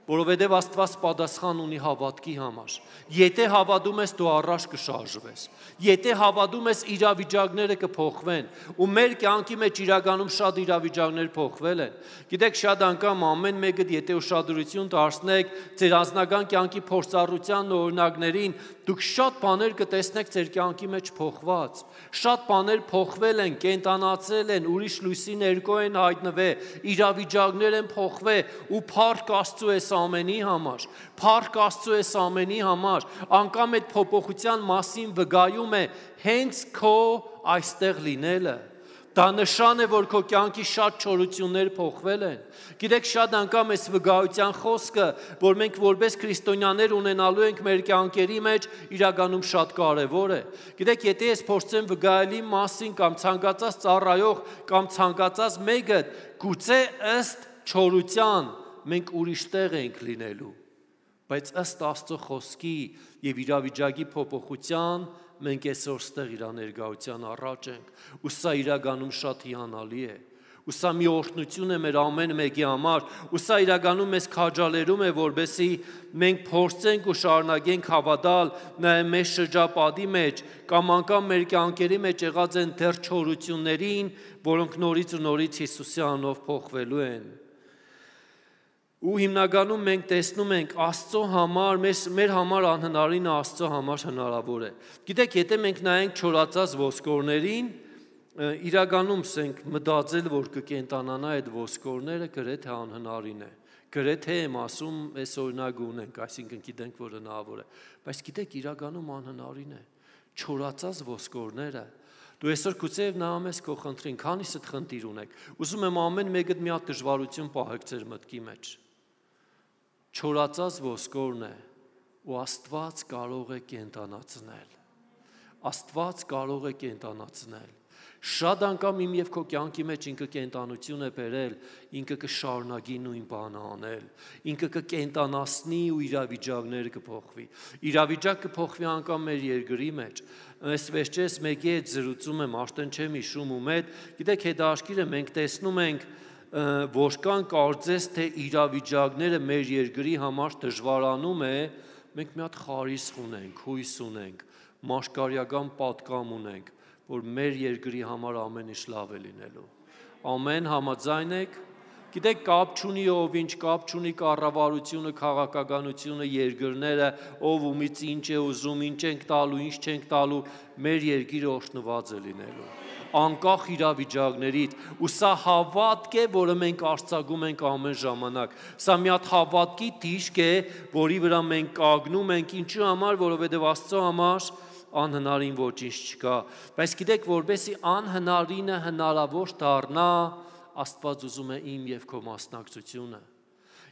որովհետև Աստված պատասխան ունի հավատքի համար, եթե հավատում ես դու առաջ կշարժվես, եթե հավատում ես իրավիճակները կփոխվեն, ու մեր կյանքի մեջ իրականում շատ իրավիճակներ փոխվել են, գիտեք շատ անգամ ամեն մեկը եթե ուշադրություն դարձնեք ձեր անձնական կյանքի փորձառության օրինակներին, դուք շատ բաներ կտեսնեք ձեր կյանքի մեջ փոխված, շատ բաներ փոխվել են, կենտանացել են, ուրիշ լույսի ներքո են հայտնվել, իրավիճակներ են փոխվել ու փառք Աստծո է ամենի համար, փառք Աստծո է ամենի համար, անգամ այդ փոփոխության մասին վկայում է հենց քո այստեղ լինելը։ Դա նշան է, որ քո կյանքի շատ չորություններ փոխվել են։ Գիտեք, շատ անգամ այս վկայության խոսքը, որ մենք որպես քրիստոնյաներ ունենալու ենք մեր կյանքերի մեջ, իրականում շատ կարևոր է։ Գիտեք, եթե ես փորձեմ վկայելի մասին կամ ցանկացած ծառայող կամ ցանկացած մեկը, գուցե ըստ չորության մենք ուրիշ տեղ ենք լինելու, բայց ըստ Աստծո խոսքի եւ իրավիճակի փոփոխության մենք այսօր ստեղ իր ներկայության առաջ ենք, ու սա իրականում շատ հիանալի է, ու սա մի օրհնություն է մեր ամեն մեկի համար, ու սա իրականում մեզ քաջալերում է, որբեսի մենք փորձենք ու շարունակենք հավատալ նաեւ մեր շրջապատի մեջ կամ անգամ մեր կյանքերի մեջ եղած են դեռ չորություններին, որոնք նորից ու նորից Հիսուսի անունով փոխվելու են։ Ու հիմնականում մենք տեսնում ենք Աստծո համար, մեր, մեր համար անհնարինը Աստծո համար հնարավոր է։ Գիտեք, եթե մենք նայենք չորացած ոսկորներին, իրականում սենք մտածել, որ կկենտանանա այդ ոսկորները գրեթե անհնարին է։ Գրեթե եմ ասում, այս օրինակը ունենք, այսինքն գիտենք, որ հնարավոր է, բայց գիտեք, իրականում անհնարին է։ Չորացած ոսկորները Դու այսօր գուցե նայում ես քո խնդրին, քանիսդ խնդիր ունեք։ Ուզում եմ ամեն մեկդ մի հատ դժվարություն պահեք ձեր մտքի մեջ։ Չորացած ոսկորն է, ու Աստված կարող է կենտանացնել։ Աստված կարող է կենտանացնել։ Շատ անգամ իմ և քո կյանքի մեջ ինքը կենտանություն է բերել, ինքը կշարունակի նույն բանը անել, ինքը կկենտանացնի ու իրավիճակներ կփոխվի։ Իրավիճակ կփոխվի անգամ մեր երկրի մեջ։ Այս վերջերս մեկի հետ զրուցում եմ, արդեն չեմ հիշում ում հետ, գիտեք հետաքրքիր է, մենք տեսնում ենք որքան կարծես թե իրավիճակները մեր երկրի համար դժվարանում է, մենք մի հատ խարիսխ ունենք, հույս ունենք, մաշկարյական պատկամ ունենք, որ մեր երկրի համար ամեն ինչ լավ է լինելու։ Ամեն համաձայն եք, գիտեք կապ չունի ով ինչ, կապ չունի կառավարությունը, քաղաքականությունը, երկրները, ով ումից ինչ է ուզում, ինչ ենք տալու, ինչ չենք տալու, մեր երկիրը օրհնված է լինելու։ Անկախ իրավիճակներից, ու սա հավատք է, որը մենք արձակում ենք ամեն ժամանակ։ Սա մի հատ հավատքի դիրք է, որի վրա մենք կանգնում ենք, ինչու համար, որովհետև Աստծո համար անհնարին ոչինչ չկա։ Բայց գիտեք, որբեսի անհնարինը հնարավոր դառնա, Աստված ուզում է իմ և քո մասնակցությունը։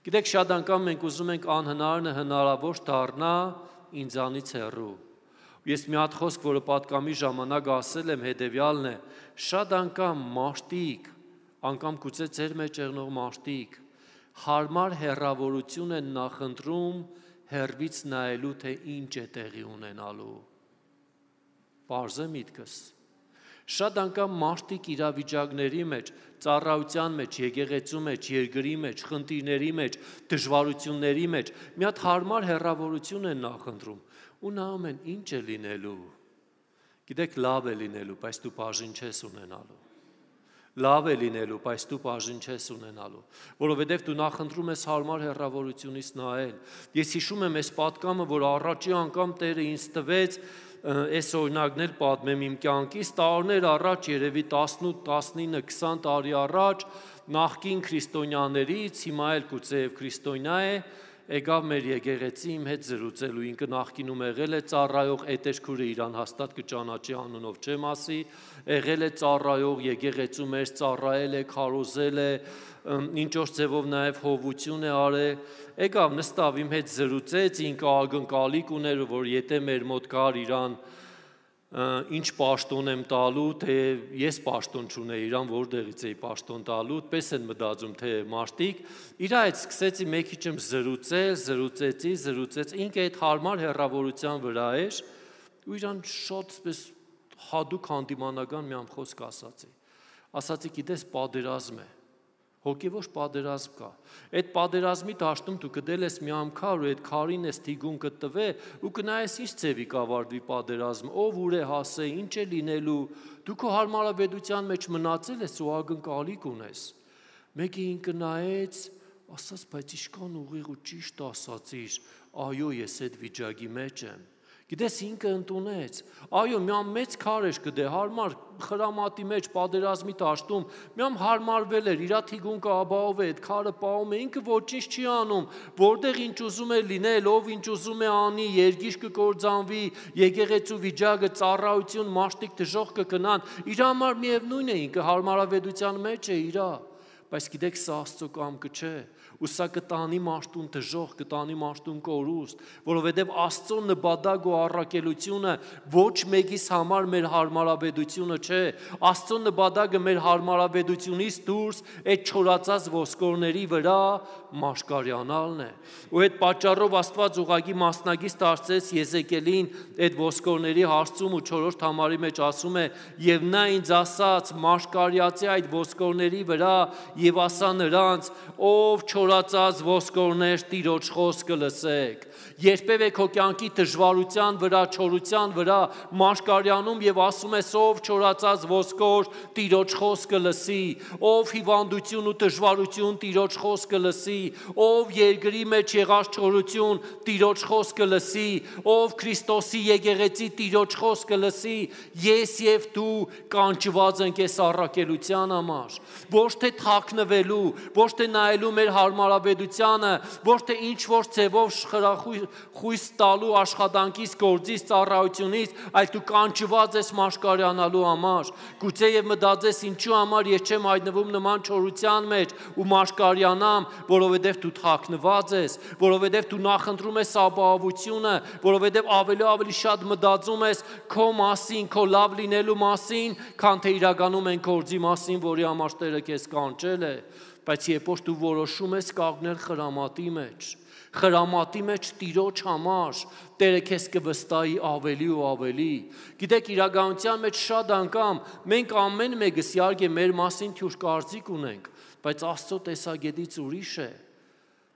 Գիտեք, շատ անգամ մենք ուզում ենք անհնարինը հնարավոր դառնա ինձանից հեռու։ Ես մի հատ խոսք, որը պատկամի ժամանակ ասել եմ, հետևյալն է, շատ անգամ մարդիկ, անգամ գուցե ձեր մեջ եղնող մարդիկ, հարմար հեռավորություն են նախընտրում հեռվից նայելու, թե ինչ է տեղի ունենալու։ Պարզ է միտքս։ Շատ անգամ մարդիկ իրավիճակների մեջ, ծառայության մեջ, եկեղեցու մեջ, երկրի մեջ, խնդիրների մեջ, դժվարությունների մեջ մի հատ հարմար հեռավորություն են նախընտրում ու նայում են ինչ է լինելու։ Գիտեք, լավ է լինելու, բայց դու բաժին չես ունենալու։ Լավ է լինելու, բայց դու բաժին չես ունենալու, որովհետև դու նախընտրում ես հարմար հեռավորությունից նայել։ Ես հիշում եմ այս պատկամը, որ առաջի անգամ Տերը ինձ տվեց, այս օրինակն էլ պատմեմ իմ կյանքից, տարիներ առաջ, երևի տասնութ, տասնինը, քսան տարի առաջ, նախկին քրիստոնյաներից, հիմա էլ գուցեև քրիստոնյա է, եկավ մեր եկեղեցի իմ հետ զրուցելու, ինքը նախկինում եղել է ծառայող, էտեշքուրը իրան հաստատ կճանաչի անունով չեմ ասի, եղել է ծառայող, եկեղեցու մեջ ծառայել է, քարոզել է, ինչ որ ձևով նաև հովություն է արել, եկավ նստավ իմ հետ զրուցեց, ինքը ակնկալիք ուներ, որ եթե մեր մոտ գար իրան ինչ պաշտոն եմ տալու, թե ես պաշտոն չունեի, իրան որտեղից էի պաշտոն տալու, պես են մտածում, թե մարդիկ, իր այդ սկսեցի մեկ քիչ եմ զրուցել, զրուցեցի, զրուցեց, ինքը այդ հարմար հեռավորության վրա էր, ու իրան շատ պես հատուկ հանդիմանական մի խոսք ասացի, ասացի, գիտես, պատերազմ է, հոգևոր պատերազմ կա, այդ պատերազմի դաշտում դու գտել ես մի ամ քար ու այդ քարին ես թիգուն կտվե ու կնայես ինչ ձևի կավարտվի պատերազմը, ով ուր է հասե, ինչ է լինելու, դու քո հարմարավետության մեջ մնացել ես ու ակնկալիք ունես, մեկը ինքը նայեց, ասաց, բայց ինչքան ուղիղ ու ճիշտ ասացիր, այո, ես այդ վիճակի մեջ եմ, գիտես ինքը ընդունեց, այո, մի ամ մեծ քար էր գտե, հարմար խրամատի մեջ պատերազմի դաշտում, մի ամ հարմարվել էր, իրա թիգուն կաբաով է, այդ քարը պահում է, ինքը ոչինչ չի անում, որտեղ ինչ ուզում է լինել, ով ինչ ուզում է անի, երգիչ կկործանվի, եկեղեցու վիճակը, ծառայություն, մաշտիկ դժոխք կգնան, իր համար միևնույն է, ինքը հարմարավետության մեջ է իրա, բայց գիտեք սա Աստծո կամքը չէ, ու սա կտանի մաշտուն դժոխք, կտանի մաշտուն կորուստ, որովհետև Աստծո նպատակ ու առաքելությունը ոչ մեկիս համար մեր հարմարավետությունը չէ, Աստծո նպատակը մեր հարմարավետությունից դուրս այդ չորացած ոսկորների վրա մաշկարյանալն է, ու այդ պատճառով Աստված ուղղակի մասնագից դարձեց Եզեկիելին այդ ոսկորների հարցում ու չորրորդ համարի մեջ ասում է, եւ նա ինձ ասաց, մաշկարյացի այդ ոսկորների վրա եւ ասա նրանց, ով չորացած ոսկորներ Տիրոջ խոսքը լսեք, երբևէ քո կյանքի դժվարության վրա, չորության վրա մաշկարյանում եւ ասում ես, ով չորացած ոսկոր Տիրոջ խոսքը լսի, ով հիվանդություն ու դժվարություն Տիրոջ խոսքը լսի, ով երկրի մեջ եղած չորություն Տիրոջ խոսքը լսի, ով Քրիստոսի եկեղեցի Տիրոջ խոսքը լսի, ես եւ դու կանչված ենք այս առաքելության համար, ոչ թե թաքնվելու, ոչ թե նայելու մեր հարմարավետությանը, ոչ թե ինչ որ ձևով խրախույս տալու աշխատանքից, գործից, ծառայությունից, այլ դու կանչված ես մաշկարյանալու համար, գուցե եւ մտածես ինչու համար ես չեմ հայտնվում նման չորության մեջ ու մաշկարյանամ, որովհետեւ դու թաքնված ես, որովհետեւ դու նախընտրում ես ապահովությունը, որովհետեւ ավելի ավելի շատ մտածում ես քո մասին, քո լավ լինելու մասին, քան թե իրականում են գործի մասին, որի համար Տերը քեզ կանչել է, բայց երբ որ դու որոշում ես կանգնել խրամատի մեջ, խրամատի մեջ Տիրոջ համար, Տերը քեզ կվստահի ավելի ու ավելի, գիտեք իրականության մեջ շատ անգամ մենք ամեն մեկս իհարկե մեր մասին թյուր կարծիք ունենք, բայց Աստծո տեսակետից ուրիշ է,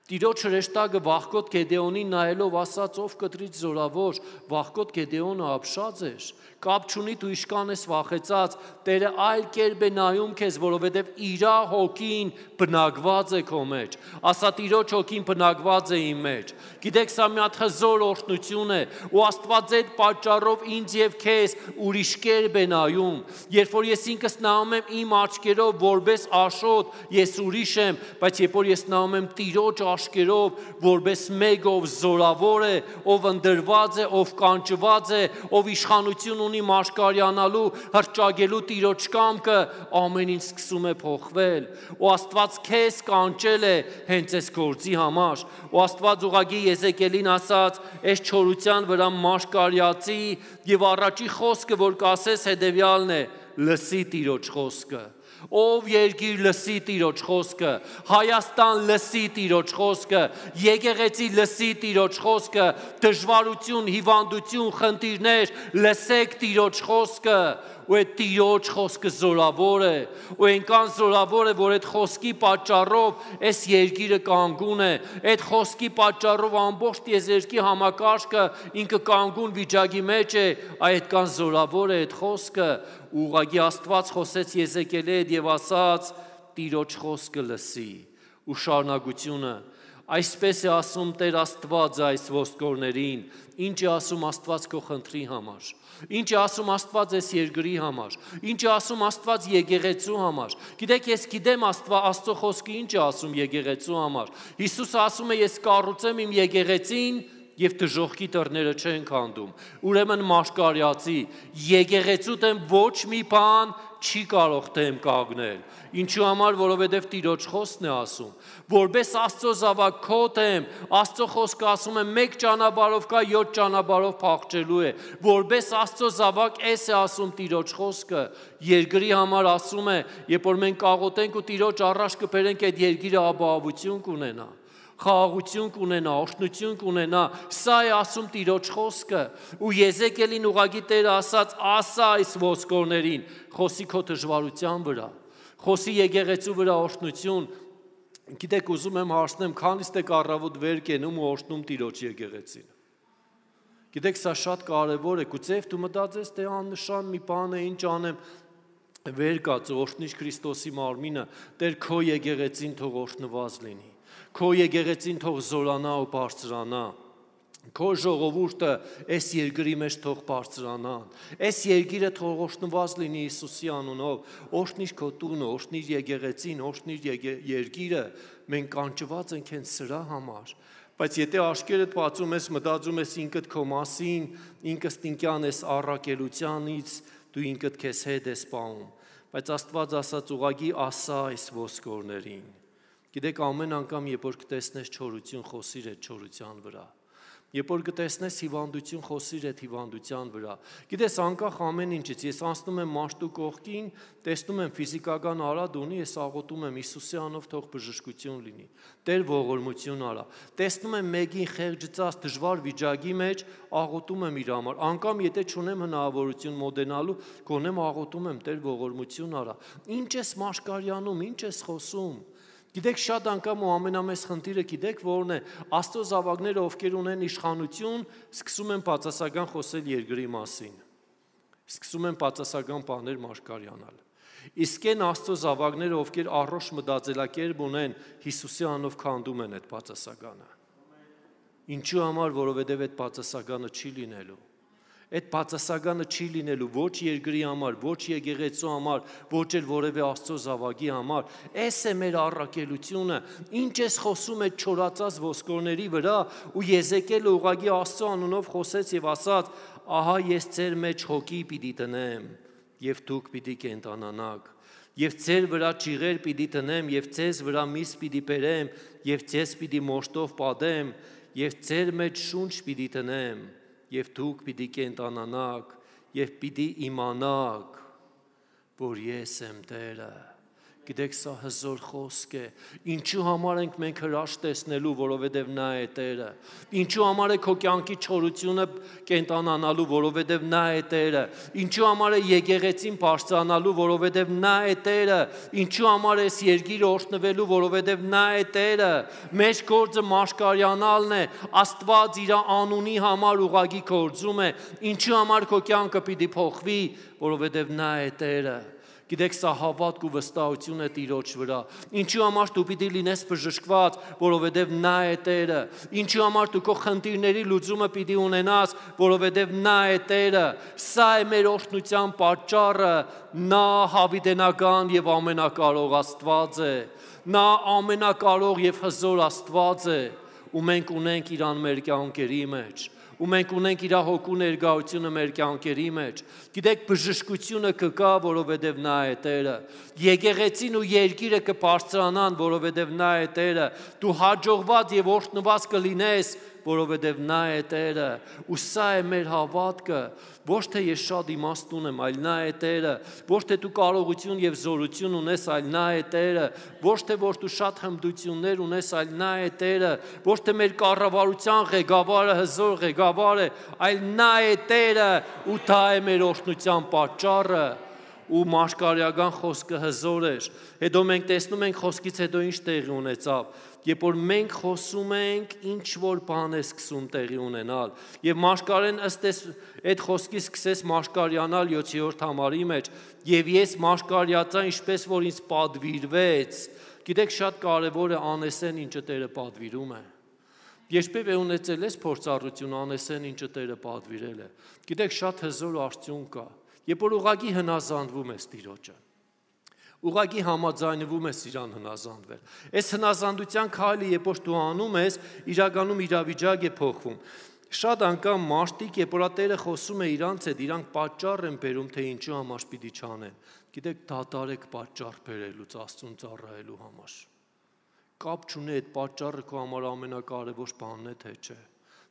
Տիրոջ հրեշտակը Վախկոտ Գեդեոնին նայելով ասաց, ով կտրից զորավոր, Վախկոտ Գեդեոնը ապշած էր, կապ չունի դու իշքան ես վախեցած, Տերը այլ կերպ է նայում քեզ, որովհետև իրա հոգին բնակված է քո մեջ, ասա Տիրոջ հոգին բնակված է իմ մեջ, գիտեք սա մի հատ հզոր օրհնություն է, ու Աստված այդ պատճառով ինձ եւ քեզ ուրիշ կերպ է նայում, երբ որ ես ինքս նայում եմ իմ աչքերով որպես աշոտ, ես ուրիշ եմ, բայց երբ որ ես նայում եմ Տիրոջ աշկերով, որպես մեկ ով զորավոր է, ով ընդրված է, ով կանչված է, ով իշխանություն ունի մաշկարյանալու, հրճագելու Տիրոջ կամքը, ամեն ինչ սկսում է փոխվել, ու Աստված քեզ կանչել է հենց այս գործի համար, ու Աստված ուղղակի Եզեկիելին ասաց, այս չորության վրա մաշկարյացի եւ առաջի խոսքը, որ կասես հետեւյալն է, լսի Տիրոջ խոսքը, Ով երկիր լսի Տիրոջ խոսքը, Հայաստան լսի Տիրոջ խոսքը, եկեղեցի լսի Տիրոջ խոսքը, դժվարություն, հիվանդություն, խնդիրներ, լսեք Տիրոջ խոսքը, ու այդ Տիրոջ խոսքը զորավոր է, ու այնքան զորավոր է, որ այդ խոսքի պատճառով այս երկիրը կանգուն է, այդ խոսքի պատճառով ամբողջ տիեզերքի համակարգը ինքը կանգուն վիճակի մեջ է, այդքան զորավոր է այդ խոսքը, ուղղակի Աստված խոսեց Եզեկիելի հետ եւ ասաց. Տիրոջ խոսքը լսի, ու շարունակությունը Այսպես է ասում Տեր Աստված այս ոսկորներին, ինչ է ասում Աստված քո խնդրի համար, ինչ է ասում Աստված այս երկրի համար, ինչ է ասում Աստված եկեղեցու համար։ Գիտեք, ես գիտեմ Աստծո խոսքը ինչ է ասում եկեղեցու համար։ Հիսուսը ասում է, ես կառուցեմ իմ եկեղեցին և դժոխքի դռները չեն քանդում։ Ուրեմն մաշկարյացի, եկեղեցու դեմ ոչ մի բան չի կարող դեմ կանգնել։ Ինչու համար, որովհետև Տիրոջ խոսքն է ասում, որպես Աստծո զավակ քո դեմ, Աստծո խոսքը ասում է մեկ ճանապարհով կա, յոթ ճանապարհով փախչելու է, որպես Աստծո զավակ էս է ասում Տիրոջ խոսքը, երկրի համար ասում է, երբ որ մենք կաղոթենք ու Տիրոջ առաջ կբերենք, այդ երկիրը ապահովություն կունենա, խաղաղություն կունենա, օրհնություն կունենա, սա է ասում Տիրոջ խոսքը, ու Եզեկիելին ուղղակի Տերը ասաց, ասա այս ոսկորներին, խոսի քո դժվարության վրա, խոսի եկեղեցու վրա օրհնություն։ Գիտեք, ուզում եմ հարցնեմ, քանիստ եք առավոտ վեր կենում ու օրհնում Տիրոջ եկեղեցին։ Գիտեք, սա շատ կարևոր է, գուցե դու մտածես, թե աննշան մի բան է, ինչ անեմ, վեր կաց օրհնիչ Քրիստոսի մարմինը, Տեր քո եկեղեցին թող օրհնված լինի, քո եկեղեցին թող զորանա ու բարձրանա, քո ժողովուրդը այս երկրի մեջ թող բարձրանան, այս երկիրը թող օրհնված լինի Հիսուսի անունով, օրհնիր քո տունը, օրհնիր եկեղեցին, օրհնիր երկիրը, մենք կանչված ենք հենց սրա համար։ Բայց եթե աչքերդ բացում ես, մտածում ես ինքդ քո մասին, ինքստինքյան ես առաքելությանից, դու ինքդ քեզ հետ ես պահում։ Բայց Աստված ասաց ուղղակի ասա այս ոսկորներին։ Գիտեք, ամեն անգամ, երբ որ կտեսնես չորություն, խոսիր այդ չորության վրա։ Երբ որ կտեսնես հիվանդություն, խոսիր այդ հիվանդության վրա։ Գիտես, անկախ ամեն ինչից, ես անցնում եմ մաշտու կողքին, տեսնում եմ ֆիզիկական արատ ունի, ես աղոթում եմ Հիսուսի անունով թող բժշկություն լինի։ Տեր ողորմություն արա։ Տեսնում եմ մեկին խեղճած դժվար վիճակի մեջ, աղոթում եմ իր համար։ Անկամ եթե չունեմ հնարավորություն մոդենալու, գոնեմ աղոթում եմ Տեր ողորմություն արա։ Ինչ ես մաշկարյանում, ինչ ես խոսում։ Գիտեք, շատ անգամ ու ամենամեծ խնդիրը գիտեք որն է, Աստծո զավակները, ովքեր ունեն իշխանություն, սկսում են բացասական խոսել երկրի մասին, սկսում են բացասական բաներ մաշկարյանալ։ Իսկ այն Աստծո զավակները, ովքեր առողջ մտածելակերպ ունեն, Հիսուսի անունով քանդում են այդ բացասականը։ Ինչու համար, որովհետև այդ բացասականը չի լինելու։ Այդ բացասականը չի լինելու ոչ երկրի համար, ոչ եկեղեցու համար, ոչ էլ որևէ Աստծո զավակի համար։ Էս է մեր առաքելությունը, ինչ ես խոսում այդ չորացած ոսկորների վրա, ու Եզեկիելը ուղղակի Աստծո անունով խոսեց եւ ասաց. ահա ես ձեր մեջ հոգի պիտի տնեմ, եւ դուք պիտի կենտանանաք, եւ ձեր վրա ճիղեր պիտի տնեմ, եւ ձեզ վրա միս պիտի բերեմ, եւ ձեզ պիտի մոշտով պատեմ, եւ ձեր մեջ շունչ պիտի տնեմ, և դուք պիտի կենտանանաք, և պիտի իմանաք, որ ես եմ Տերը։ Գիտեք, սա հզոր խոսք է։ Ինչու համար ենք մենք հրաշ տեսնելու, որովհետև նա է Տերը։ Ինչու համար է քո կյանքի չորությունը կենտանանալու, որովհետև նա է Տերը։ Ինչու համար է եկեղեցին բարձրանալու, որովհետև նա է Տերը։ Ինչու համար է այս երկիրը օրհնվելու, որովհետև նա է Տերը։ Մեր գործը մաշկարյանալն է, Աստված իր անունի համար ուղղակի գործում է։ Ինչու համար քո կյանքը պիտի փոխվի, որովհետև նա է Տերը։ Գիտեք, սա հավատք ու վստահություն է Տիրոջ վրա։ Ինչու համար դու պիտի լինես բժշկված, որովհետև նա է Տերը։ Ինչու համար դու քո խնդիրների լուծումը պիտի ունենաս, որովհետև նա է Տերը։ Սա է մեր օրհնության պատճառը։ Նա հավիտենական եւ ամենակարող Աստված է։ Նա ամենակարող եւ հզոր Աստված է, ու մենք ունենք իրան մեր կյանքերի մեջ։ Ու մենք ունենք իր հոգու ներկայությունը մեր կյանքերի մեջ։ Գիտեք, բժշկությունը կգա, որովհետև նա է Տերը։ Եկեղեցին ու երկիրը կբարձրանան, որովհետև նա է Տերը։ Դու հաջողված եւ օրհնված կլինես, որովհետև նա է Տերը, ու սա է մեր հավատքը, ոչ թե ես շատ իմաստուն եմ, այլ նա է Տերը, ոչ թե դու կարողություն եւ զորություն ունես, այլ նա է Տերը, ոչ թե որ դու շատ հմտություններ ունես, այլ նա է Տերը, ոչ թե մեր կառավարության ղեկավարը հզոր ղեկավար է, այլ նա է Տերը, ու դա է մեր օրհնության պատճառը։ Ու մաշկարյական խոսքը հզոր էր։ Հետո մենք տեսնում ենք խոսքից հետո ինչ տեղի ունեցավ։ Երբ որ մենք խոսում ենք, ինչ որ բան է սկսում տեղի ունենալ։ Եվ մաշկարեն ըստ այդ խոսքի սկսեց մաշկարյանալ յոթերորդ համարի մեջ, եւ ես մաշկարյացա, ինչպես որ ինձ պատվիրվեց։ Գիտեք, շատ կարևոր է անեսեն, ինչը Տերը պատվիրում է։ Երբևէ ունեցել ես փորձառություն անեսեն, ինչը Տերը պատվիրել է։ Գիտեք, շատ հզոր արդյունք կա։ Երբ որ ուղղակի հնազանդվում ես Տիրոջը, ուղղակի համաձայնվում ես իրան հնազանդվել։ Այս հնազանդության քայլը, երբ որ դու անում ես, իրականում իրավիճակ է փոխվում։ Շատ անգամ մարդիկ, երբ որ Տերը խոսում է իրանց հետ, իրանք պատճառ են բերում, թե ինչու համար պիտի չանեն։ Գիտեք, դատարեք պատճառ բերելուց Աստծուն ծառայելու համար։ Կապ չունի այդ պատճառը քո համար ամենակարևոր բանն է, թե չէ։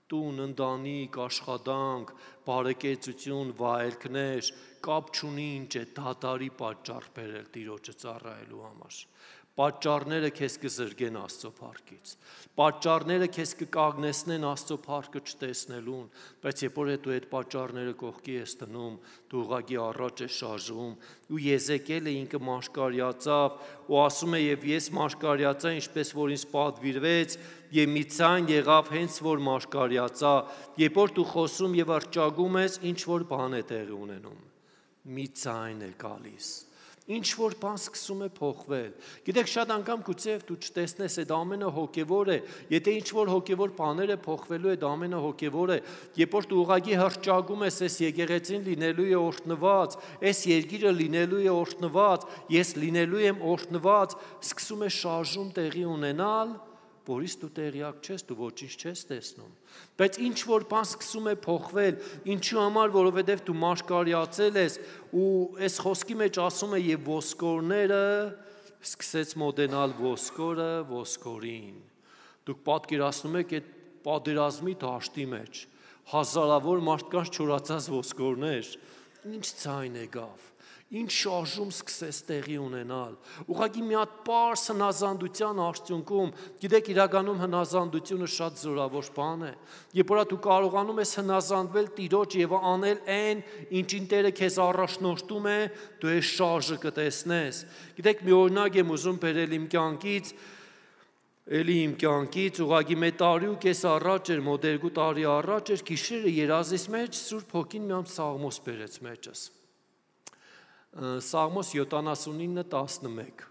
Տուն, ընտանիք, աշխատանք, բարեկեցություն, վայելքներ, կապ չունի ինչ է դատարի պատճառ բերել Տիրոջը ծառայելու համար։ Պատճառները քեզ կզրկեն Աստծո փառքից։ Պատճառները քեզ կկանգնեցնեն Աստծո փառքը չտեսնելուն, բայց երբ որ դու այդ պատճառները կողքի ես դնում, դու ուղղակի առաջ ես շարժվում, ու Եզեկիելը ինքը մաշկարյացավ, ու ասում է, եւ ես մաշկարյացա, ինչպես որ ինձ պատվիրվեց, եւ մի ցան եղավ հենց որ մաշկարյացա, երբ որ դու խոսում եւ արճագում ես, ինչ որ բան է տեղի ունենում։ Մի ցայն է գալիս։ Ինչ որ բան սկսում է փոխվել։ Գիտեք, շատ անգամ գուցեև դու չտեսնես, այդ ամենը հոգևոր է, եթե ինչ որ հոգևոր բաներ է փոխվելու, այդ ամենը հոգևոր է։ Երբ որ դու ուղղակի հրճագում ես, այս եկեղեցին լինելու է օրհնված, այս երկիրը լինելու է օրհնված, ես լինելու եմ օրհնված, սկսում է շարժում տեղի ունենալ, որից դու տեղյակ չես, դու ոչինչ չես տեսնում։ Բայց ինչ որ բան սկսում է փոխվել, ինչու համար, որովհետև դու մաշկարյացել ես, ու այս խոսքի մեջ ասում է եւ ոսկորները սկսեց մոտենալ ոսկորը ոսկորին։ Դուք պատկերացնում եք այդ պատերազմի դաշտի մեջ հազարավոր մարդկանց չորացած ոսկորներ, ինչ ցայն եկավ։ Ինչ շարժում սկսեց տեղի ունենալ։ Ուղղակի մի հատ պարզ հնազանդության արդյունքում, գիտեք, իրականում հնազանդությունը շատ զորավոր բան է։ Երբ որ դու կարողանում ես հնազանդվել Տիրոջ եւ անել այն, ինչին Տերը քեզ առաջնորդում է, դու այս շարժը կտեսնես։ Գիտեք, մի օրինակ եմ ուզում բերել իմ կյանքից, էլի իմ կյանքից, ուղղակի մի տարի ու կես առաջ էր, մոտ երկու տարի առաջ էր, գիշերը երազիս մեջ Սուրբ Հոգին մի հատ Սաղմոս բերեց մեջս։ Սաղմոս յոթանասունինը տասնմեկ։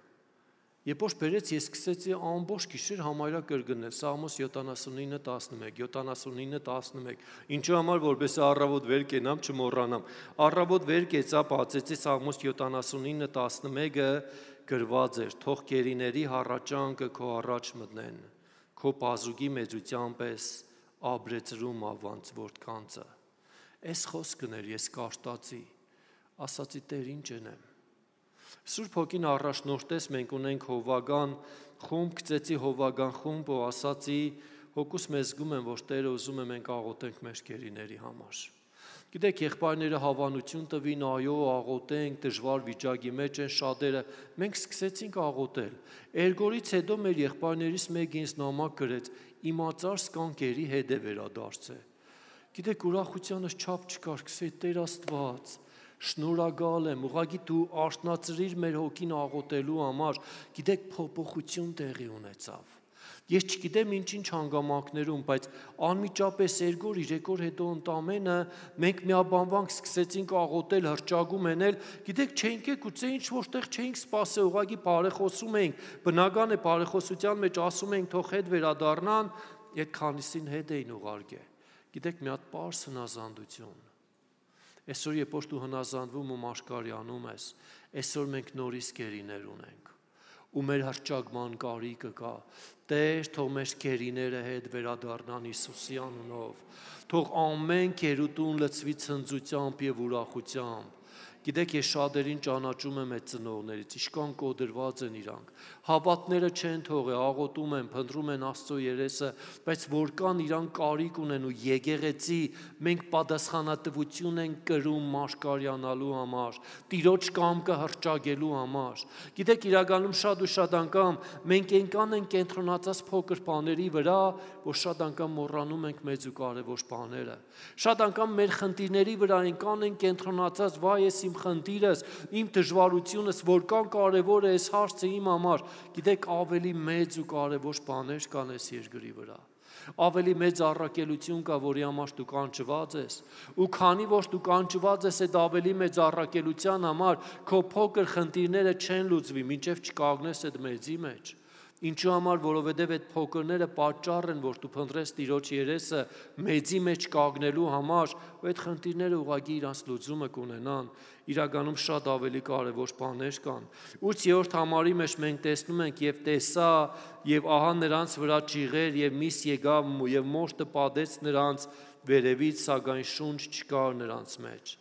Երբ որ բերեց, ես սկսեցի ամբողջ գիշեր համարյա կրկնել Սաղմոս յոթանասունինը տասնմեկ, յոթանասունինը տասնմեկ։ Ինչու համար, որպես առավոտ վեր կենամ, չմոռանամ։ Առավոտ վեր կեցա, բացեցի Սաղմոս յոթանասունինը տասնմեկը գրված էր. թող գերիների հառաճանքը քո առաջ մտնեն, քո բազուկի մեծության պես աբրեցրում ավանց որդկանցը։ Այս խոսքն էր, ես կարտացի, ասացի Տեր, ինչ ենեմ։ Սուրբ Հոգին առաջնորդեց, մենք ունենք հովվական խումբ, գծեցի հովվական խումբ ու ասացի, հոգուս մեզ զգում եմ, որ Տերը ուզում է մենք աղոթենք մեր գերիների համար։ Գիտեք, եղբայրները հավանություն տվին, այո, աղոթենք, դժվար վիճակի մեջ են շատերը, մենք սկսեցինք աղոթել։ Երգորից հետո մեր եղբայրներից մեկը ինձ նամակ գրեց, իմացար սկանկերի հետ է վերադարձել։ Գիտեք, ուրախությանս չափ չկար, կսեի Տեր Աստված, շնորհակալ եմ, ուղղակի դու արթնացրիր մեր հոգին աղոթելու համար, գիտեք, փոփոխություն տեղի ունեցավ։ Ես չգիտեմ ինչ-ինչ հանգամանքներում, բայց անմիջապես երկու երեք օր հետո ընդամենը մենք միաբանվանք սկսեցինք աղոթել, հրճագում ենել, գիտեք, չէինք է գուցե ինչ որտեղ չէինք սպասել, ուղղակի բարեխոսում էինք, բնական է բարեխոսության մեջ ասում էինք թող հետ վերադառնան, այդ քանիսին հետ էին ուղարկել։ Գիտեք, մի հատ պարզ հնազանդություն։ Այսօր երբ որ դու հնազանդվում ու մաշկարյանում ես, այսօր մենք նորից գերիներ ունենք, ու մեր հրճագման կարիքը կա։ Տեր, թող մեր գերիները հետ վերադառնան Հիսուսի անունով, թող ամեն գերուտուն լցվի ցնծությամբ եւ ուրախությամբ, Գիտեք, ես շատերին ճանաչում եմ այդ ծնողներից, իշքան կոդրված են իրանք։ Հավատները չեն թողել, աղոթում են, փնտրում են Աստծո երեսը, բայց որքան իրանք կարիք ունեն ու եկեղեցի, մենք պատասխանատվություն ենք կրում մաշկարյանալու համար, Տիրոջ կամքը հռչակելու համար։ Գիտեք, իրականում շատ ու շատ անգամ մենք այնքան ենք կենտրոնացած փոքր բաների վրա, որ շատ անգամ մոռանում ենք մեծ ու կարևոր բաները։ Շատ անգամ մեր խնդիրների վրա այնքան ենք կենտրոնացած, վայ, ես իմ խնդիրս, իմ դժվարությունս, որքան կարևոր է այս հարցը իմ համար։ Գիտեք, ավելի մեծ ու կարևոր բաներ կան այս երկրի վրա։ Ավելի մեծ առաքելություն կա, որի համար դու կանչված ես։ Ու քանի որ դու կանչված ես այդ ավելի մեծ առաքելության համար, քո փոքր խնդիրները չեն լուծվի, մինչև չկանգնես այդ մեծի մեջ։ Ինչու համար, որովհետև այդ փոքրները պատճառ են, որ դու փնտրես Տիրոջ երեսը մեծի մեջ կանգնելու համար, ու այդ խնդիրները ուղղակի իրանց լուծումը կունենան, իրականում շատ ավելի կարևոր բաներ կան։ ութ-րդ համարի մեջ մենք տեսնում ենք եւ տեսա, եւ ահա նրանց վրա ճիղեր եւ միս եկավ եւ մորթը պատեց նրանց վերևից, սակայն շունչ չկար նրանց մեջ։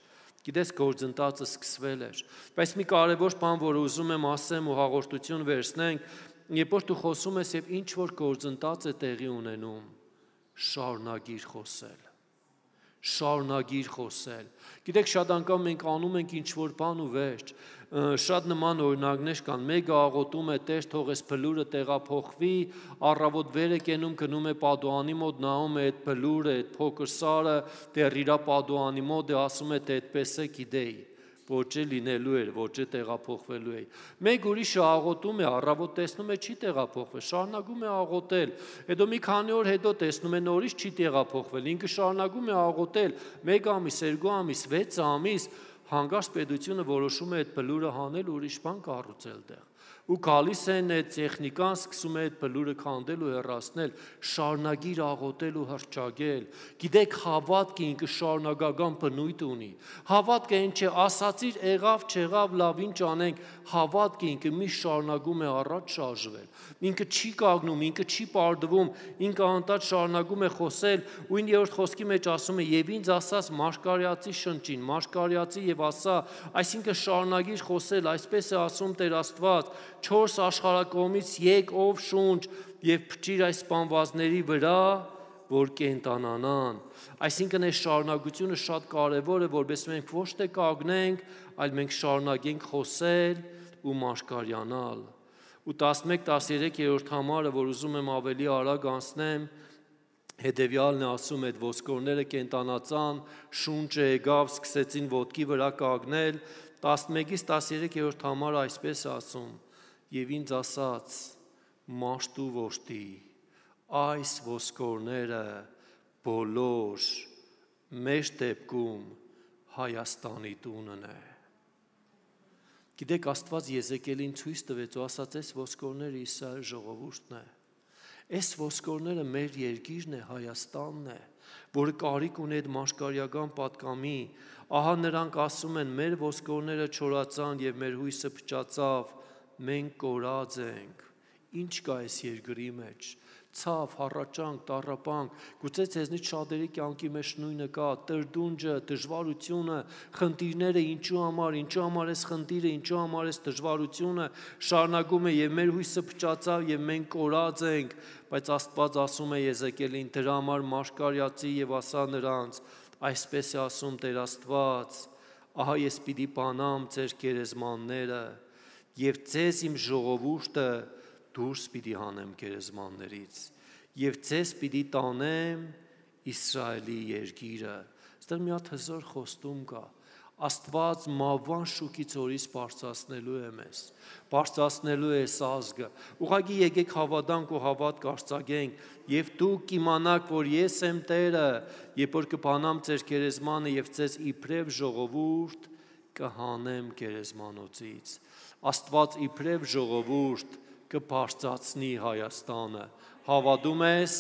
Գիտես, գործընթացը սկսվել էր, բայց մի կարևոր բան, որ ուզում եմ ասեմ ու հաղորդություն վերցնենք, երբ որ դու խոսում ես եւ ինչ որ գործընթաց է տեղի ունենում, շարունակիր խոսել, շարունակիր խոսել։ Գիտեք, շատ անգամ մենք անում ենք ինչ որ բան ու վերջ, շատ նման օրինակներ կան, մեկը աղոթում է, Տեր թող այս բլուրը տեղափոխվի, առավոտ վեր է կենում, գնում է Պադուանի մոտ, նայում է այդ բլուրը, այդ փոքր սարը, դեռ իրա Պադուանի մոտ է, ասում է, թե այդպես է, գիտեի, ոչ է լինելու էր, ոչ է տեղափոխվելու է։ Մեկ ուրիշը աղոթում է, առավոտ տեսնում է չի տեղափոխվել, շարունակում է աղոթել, հետո մի քանի օր հետո տեսնում է նորից չի տեղափոխվել, ինքը շարունակում է աղոթել, մեկ ամիս, երկու ամիս, վեց ամիս, հանկարծ պետությունը որոշում է այդ բլուրը հանել, ուրիշ բան կառուցել տեղ։ Ու գալիս են այդ տեխնիկան, սկսում է այդ բլուրը քանդել ու հեռացնել, շարունակիր աղոթել ու հռչակել։ Գիտեք, հավատքը ինքը շարունակական բնույթ ունի։ Հավատքը այն չէ, ասացիր, եղավ, չեղավ, լավ, ինչ անենք, հավատքը ինքը միշտ շարունակում է առաջ շարժվել։ Ինքը չի կանգնում, ինքը չի պարդվում, ինքը անընդհատ շարունակում է խոսել, ու իններորդ խոսքի մեջ ասում է, եւ ինձ ասաց Մաշկարյացի շնչին, Մաշկարյացի եւ ասա, այսինքն շարունակիր խոսել, այսպես է ասում Տեր Աստված, չորս աշխարհակողմից եկ ով շունչ եւ փչիր այս սպանվածների վրա, որ կենտանանան։ Այսինքն այս շարունակությունը շատ կարևոր է, որովհետեւ մենք ոչ թե կանգնենք, այլ մենք շարունակենք խոսել ու մաշկարյանալ։ Ու տասնմեկ տասներեք համարը, որ ուզում եմ ավելի արագ անցնեմ, հետևյալն է ասում, այդ ոսկորները կենտանացան, շունչը եկավ, սկսեցին ոտքի վրա կանգնել, տասնմեկից տասներեք համարը այսպես ասում, եւ ինձ ասաց, մաշտու որդի, այս ոսկորները բոլոր մեր դեպքում Հայաստանի տունն է։ Գիտեք, Աստված Եզեկիելին ցույց տվեց ու ասաց, այս ոսկորները Իսրայել ժողովուրդն է։ Այս ոսկորները մեր երկիրն է, Հայաստանն է, որը կարիք ունի այդ մաշկարյական պատկամի։ Ահա նրանք ասում են, մեր ոսկորները չորացան եւ մեր հույսը փչացավ, մենք կորած ենք։ Ինչ կա այս երկրի մեջ։ Ցավ, հառաճանք, տառապանք, գուցե ցեզնից շատերի կյանքի մեջ նույնը կա, տրդունջը, դժվարությունը, խնդիրները, ինչու համար, ինչու համար էս խնդիրը, ինչու համար էս դժվարությունը շարունակում է եւ մեր հույսը փչացավ եւ մենք կորած ենք, բայց Աստված ասում է Եզեկիելին, դրա համար Մաշկարյացի եւ ասա նրանց, այսպես է ասում Տեր Աստված, ահա ես պիտի բանամ ձեր գերեզմանները եւ ձեզ իմ ժողովուրդը դուրս պիտի հանեմ գերեզմաններից եւ ձեզ պիտի տանեմ Իսրայելի երկիրը։ Այստեղ մի հատ հզոր խոստում կա։ Աստված մավան շուկից օրից բարձրացնելու է մեզ, բարձրացնելու է այս ազգը։ Ուղղակի եկեք հավատանք ու հավատք արձակենք եւ դուք կիմանաք, որ ես եմ Տերը, երբ որ կբանամ ձեր գերեզմանը եւ ձեզ իբրև ժողովուրդ կհանեմ գերեզմանոցից։ Աստված իբրև ժողովուրդ կբարձրացնի Հայաստանը։ Հավատում ես,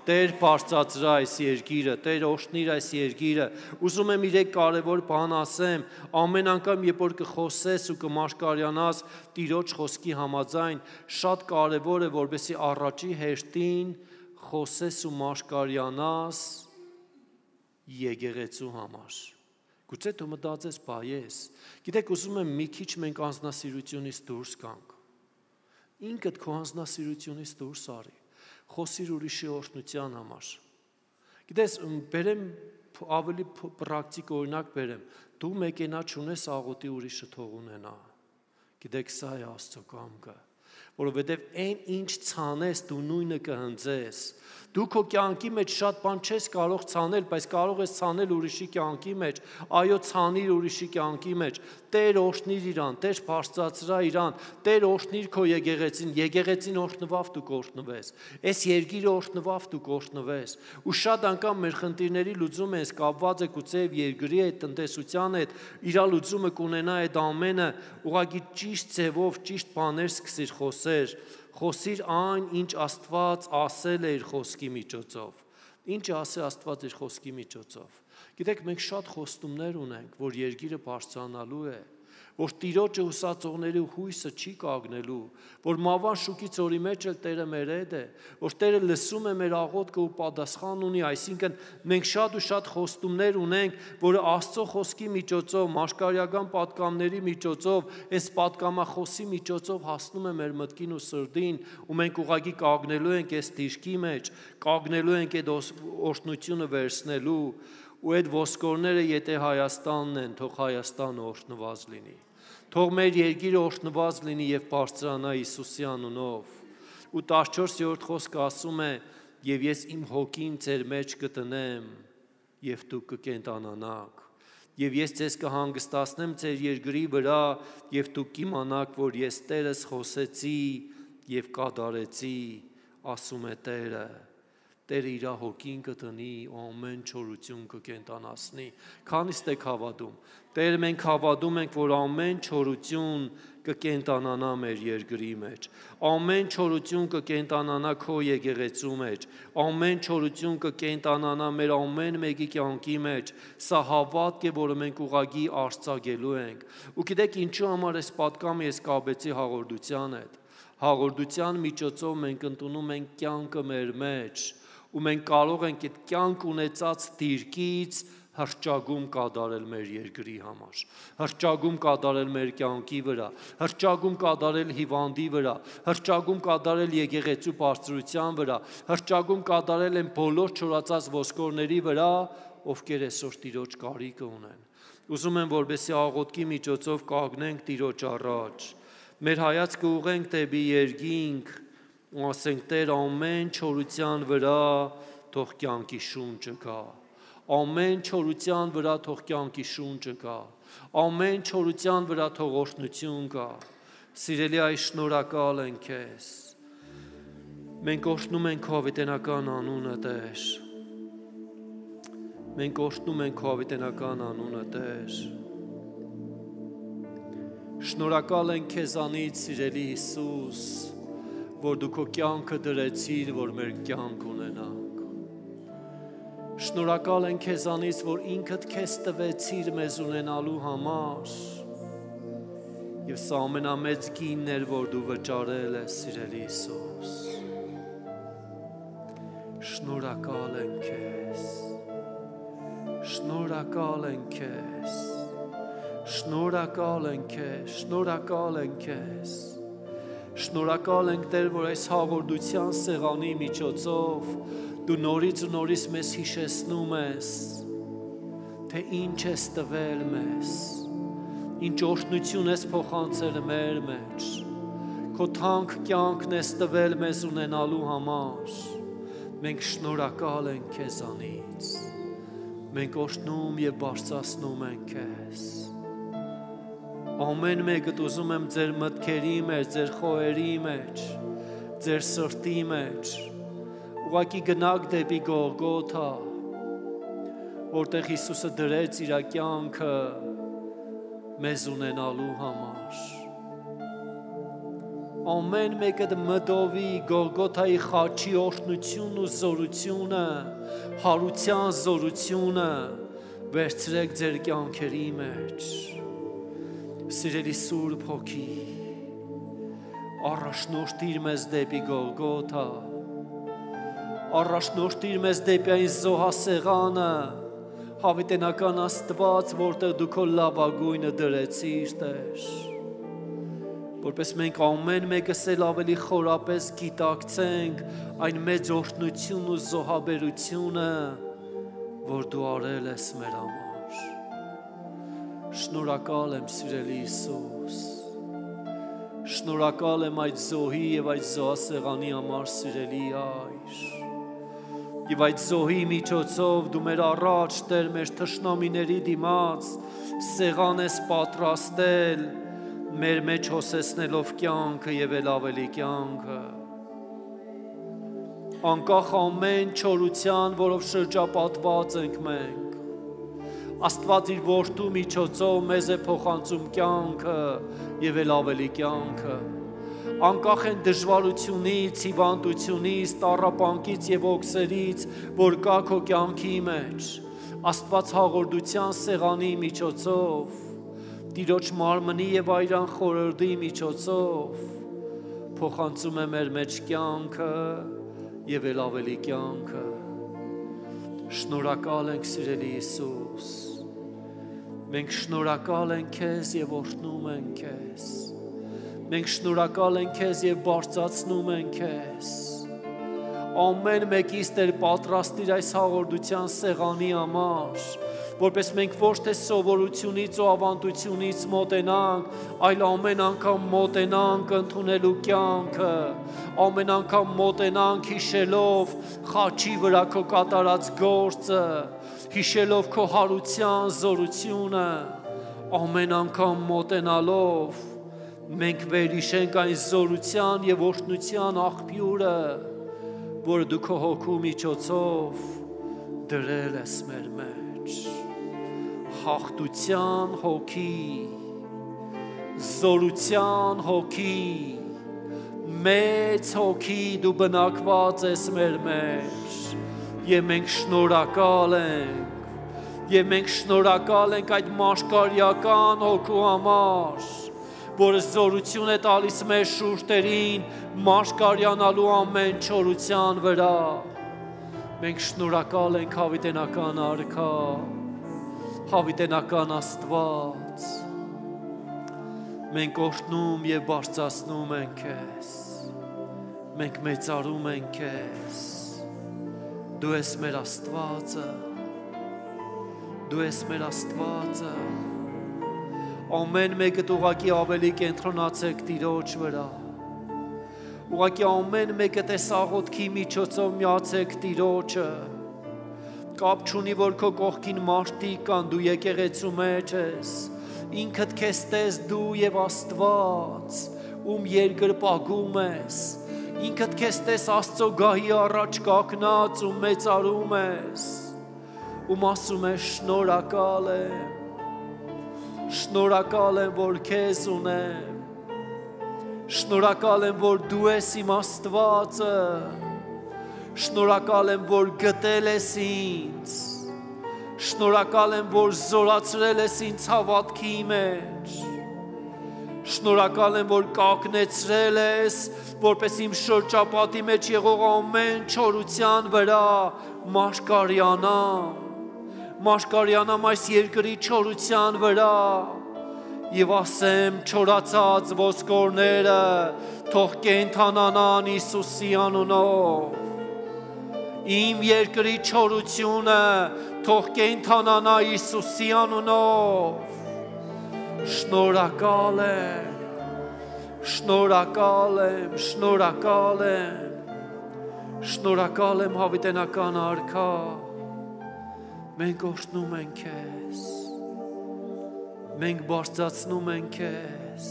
Տեր բարձրացրա այս երկիրը, Տեր օժտնիր այս երկիրը։ Ուզում եմ իրեք կարևոր բան ասեմ, ամեն անգամ երբ որ կխոսես ու կմաշկարյանաս Տիրոջ խոսքի համաձայն, շատ կարևոր է, որպեսզի առաջի հերթին խոսես ու մաշկարյանաս եկեղեցու համար, Գուցե դու մտածես, բա ես։ Գիտեք, ուզում եմ մի քիչ մենք անձնասիրությունից դուրս գանք։ Ինքդ քո անձնասիրությունից դուրս արի։ Խոսիր ուրիշի օրհնության համար։ Գիտես, բերեմ ավելի պրակտիկ օրինակ բերեմ։ Դու մեկենա չունես, աղոթի ուրիշը թող ունենա։ Գիտեք, սա է Աստծո կամքը, որովհետև այն ինչ ցանես, դու նույնը կհնձես։ Դու քո կյանքի մեջ շատ բան չես կարող ցանել, բայց կարող ես ցանել ուրիշի կյանքի մեջ։ Այո, ցանիր ուրիշի կյանքի մեջ։ Տեր օրհնիր իրան, Տեր բարձրացրա իրան, Տեր օրհնիր քո եկեղեցին, եկեղեցին օրհնվավ դու կօրհնվես։ Այս երկիրը օրհնվավ դու կօրհնվես։ Ու շատ անգամ մեր խնդիրների լուծումը էս կապված է գուցեև երկրի հետ, տնտեսության հետ, իրա լուծումը կունենա այդ ամենը, ուղղակի ճիշտ ձևով, ճիշտ բաներ սկսիր խոսել։ Խոսիր այն, ինչ Աստված ասել է իր խոսքի միջոցով։ Ինչ ասել Աստված իր խոսքի միջոցով։ Գիտեք, մենք շատ խոստումներ ունենք, որ երկիրը բարձրանալու է, որ Տիրոջը հուսածողների հույսը չի կանգնելու, որ մավան շուկից օրի մեջ էլ Տերը մեր հետ է, որ Տերը լսում է մեր աղոթքը ու պատասխան ունի, այսինքն մենք շատ ու շատ խոստումներ ունենք, որը Աստծո խոսքի միջոցով, մաշկարյական պատգամների միջոցով, այս պատգամախոսի միջոցով հասնում է մեր մտքին ու սրտին, ու մենք ուղղակի կանգնելու ենք այս դիրքի մեջ, կանգնելու ենք այդ օրհնությունը վերցնելու, ու այդ ոսկորները եթե Հայաստանն են, թող Հայաստանը օրհնված լինի։ Թող մեր երկիրը օրհնված լինի եւ բարձրանա Հիսուսի անունով։ Ու տասնչորսերորդ խոսքը ասում է. «Եվ ես իմ հոգին ձեր մեջ կտնեմ, եւ դուք կկենտանանաք։ Եվ ես ձեզ կհանգստացնեմ ձեր երկրի վրա, եւ դուք կիմանաք, որ ես Տերս խոսեցի եւ կատարեցի, ասում է Տերը»։ Տերը իր հոգին կտնի, ամեն չորություն կկենտանացնի։ Քանիստ եք հավատում։ Տեր, մենք հավատում ենք, որ ամեն չորություն կկենտանանա մեր երկրի մեջ։ Ամեն չորություն կկենտանանա քո եկեղեցու մեջ։ Ամեն չորություն կկենտանանա մեր ամեն մեկի կյանքի մեջ։ Սա հավատք է, որը մենք ուղղակի արձակելու ենք։ Ու գիտեք ինչու համար այս պատգամը ես կապեցի հաղորդության հետ։ Հաղորդության միջոցով մենք ընդունում ենք կյանքը մեր մեջ, ու մենք կարող ենք այդ կյանք ունեցած դիրքից հրճագում կատարել մեր երկրի համար, հրճագում կատարել մեր կյանքի վրա, հրճագում կատարել հիվանդի վրա, հրճագում կատարել եկեղեցու բարձրության վրա, հրճագում կատարել են բոլոր չորացած ոսկորների վրա, ովքեր այսօր Տիրոջ կարիքը ունեն։ Ուզում եմ, որպեսզի աղոթքի միջոցով կանգնենք Տիրոջ առաջ, մեր հայացքը ուղենք դեպի երկինք, ու ասենք Տեր, ամեն չորության վրա թող կյանքի շունչը գա, ամեն չորության վրա թող կյանքի շունչը գա, ամեն չորության վրա թող օրհնություն գա։ Սիրելի այս շնորհակալ ենք քեզ։ Մենք օրհնում ենք քո հավիտենական անունը, Տեր։ Մենք օրհնում ենք քո հավիտենական անունը, Տեր։ Շնորհակալ ենք քեզանից, սիրելի Հիսուս, որ դու քո կյանքը դրեցիր, որ մեր կյանք ունենանք։ Շնորհակալ ենք քեզանից, որ ինքդ քեզ տվեցիր մեզ ունենալու համար, եւ սա ամենամեծ գինն էր, որ դու վճարել ես, սիրելի Հիսուս։ Շնորհակալ ենք քեզ։ Շնորհակալ ենք քեզ։ Շնորհակալ ենք քեզ, շնորհակալ ենք քեզ։ Շնորհակալ ենք Տեր, որ այս հաղորդության սեղանի միջոցով դու նորից ու նորից մեզ հիշեցնում ես, թե ինչ ես տվել մեզ, ինչ օրհնություն ես փոխանցել մեր մեջ, քո թանկ կյանքն ես տվել մեզ ունենալու համար։ Մենք շնորհակալ ենք քեզանից։ Մենք օրհնում եւ բարձրացնում ենք քեզ։ Ամեն մեկդ ուզում եմ ձեր մտքերի մեջ, ձեր խոհերի մեջ, ձեր սրտի մեջ, ուղղակի գնաք դեպի Գողգոթա, որտեղ Հիսուսը դրեց իր կյանքը մեզ ունենալու համար։ Ամեն մեկդ մտովի Գողգոթայի խաչի օրհնությունն ու զորությունը, հարության զորությունը վերցրեք ձեր կյանքերի մեջ։ Սիրելի Սուրբ Հոգի, առաջնորդիր մեզ դեպի Գողգոթա, առաջնորդիր մեզ դեպի այն զոհասեղանը, Հավիտենական Աստված, որտեղ դու քո լավագույնը դրեցիր, Տեր, որպես մենք ամեն մեկս էլ ավելի խորապես գիտակցենք այն մեծ օրհնությունն ու զոհաբերությունը, որ դու արել ես մեր համար։ Շնորհակալ եմ, սիրելի Հիսուս, շնորհակալ եմ այդ զոհի եւ այդ զոհասեղանի համար, սիրելի Հայր, եւ այդ զոհի միջոցով դու մեր առաջ, Տեր, մեր թշնամիների դիմաց սեղան ես պատրաստել, մեր մեջ հոսեցնելով կյանքը եւ էլ ավելի կյանքը, անկախ ամեն չորության, որով շրջապատված ենք մենք, Աստված իր որդու միջոցով մեզ է փոխանցում կյանքը եւ էլ ավելի կյանքը, անկախ են դժվարությունից, հիվանդությունից, տառապանքից եւ օքսերից, որ կա քո կյանքի մեջ, Աստված հաղորդության սեղանի միջոցով, Տիրոջ մարմնի եւ այրան խորհրդի միջոցով փոխանցում է մեր մեջ կյանքը եւ էլ ավելի կյանքը։ Շնորհակալ ենք, սիրելի Հիսուս, մենք շնորհակալ ենք քեզ եւ օրհնում ենք քեզ, մենք շնորհակալ ենք քեզ եւ բարձրացնում ենք քեզ, ամեն մեկից Տեր պատրաստիր այս հաղորդության սեղանի համար, որպես մենք ոչ թե սովորությունից ու ավանդությունից մոտենանք, այլ ամեն անգամ մոտենանք ընդունելու կյանքը, ամեն անգամ մոտենանք հիշելով խաչի վրա քո կատարած գործը, հիշելով քո հարության զորությունը, ամեն անգամ մոտենալով մենք վերհիշենք այն զորության եւ օրհնության աղբյուրը, որը դու քո հոգու միջոցով դրել ես մեր մեջ, հաղթության հոգի, զորության հոգի, մեծ հոգի դու բնակված ես մեր մեջ, եւ մենք շնորհակալ ենք, եւ մենք շնորհակալ ենք այդ մաշկարյական հոգու համար, որը զորություն է տալիս մեր շուրթերին մաշկարյանալու ամեն չորության վրա, մենք շնորհակալ ենք հավիտենական Արքա, հավիտենական Աստված, մենք օրհնում եւ բարձրացնում ենք քեզ, մենք մեծարում ենք քեզ, դու ես մեր Աստվածը, դու ես մեր Աստվածը, ամեն մեկը ուղղակի ավելի կենտրոնացեք Տիրոջ վրա, ուղղակի ամեն մեկը տեսաղոթքի միջոցով միացեք Տիրոջը, կապ չունի, որ քո կողքին մարդիկ կան, դու եկեղեցու մեջ ես, ինքդ քեզ տես դու եւ Աստված, ում երկրպագում ես, ինքդ քեզ տես Աստծո գահի առաջ կանգնած ու մեծարում ես, ում ասում ես շնորհակալ եմ, շնորհակալ եմ, որ քեզ ունեմ, շնորհակալ եմ, որ դու ես իմ Աստվածը, շնորհակալ եմ, որ գտել ես ինձ, շնորհակալ եմ, որ զորացրել ես ինձ հավատքի մեջ, շնորհակալ եմ, որ կանգնեցրել ես, որպես իմ շրջապատի մեջ եղող ամեն չորության վրա մաշկարյանամ, մաշկարյանամ այս երկրի չորության վրա եւ ասեմ չորացած ոսկորները թող կենթանանան Հիսուսի անունով, իմ երկրի չորությունը թող կենթանանա Հիսուսի անունով, շնորհակալ եմ, շնորհակալ եմ, շնորհակալ եմ, շնորհակալ եմ հավիտենական Արքա, մենք օրհնում ենք քեզ, մենք բարձրացնում ենք քեզ,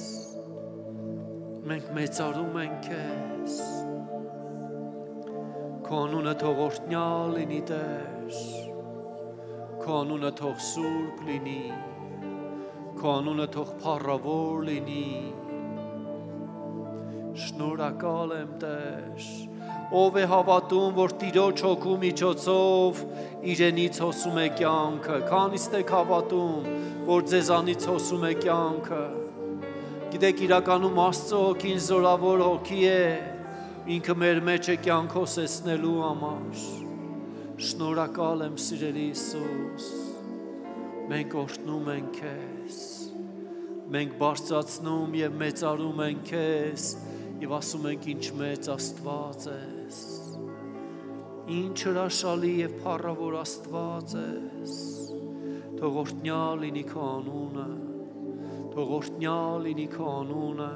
մենք մեծարում ենք քեզ, քո անունը թող օրհնյալ լինի Տեր, քո անունը թող սուրբ լինի, քո անունը թող փառավոր լինի, շնորհակալ եմ Տեր, ով է հավատում, որ Տիրոջ հոգու միջոցով իրենից հոսում է կյանքը, քանիստ եք հավատում, որ ձեզանից հոսում է կյանքը, գիտեք իրականում Աստծո հոգին զորավոր հոգի է, ինքը մեր մեջ է կյանք հոսեցնելու համար, շնորհակալ եմ սիրելի Հիսուս, Մենք օրհնում ենք քեզ, մենք բարձրացնում եւ մեծարում ենք քեզ եւ ասում ենք ինչ մեծ Աստված ես, ինչ հրաշալի եւ փառավոր Աստված ես, թող օրհնյալ լինի քո անունը, թող օրհնյալ լինի քո անունը,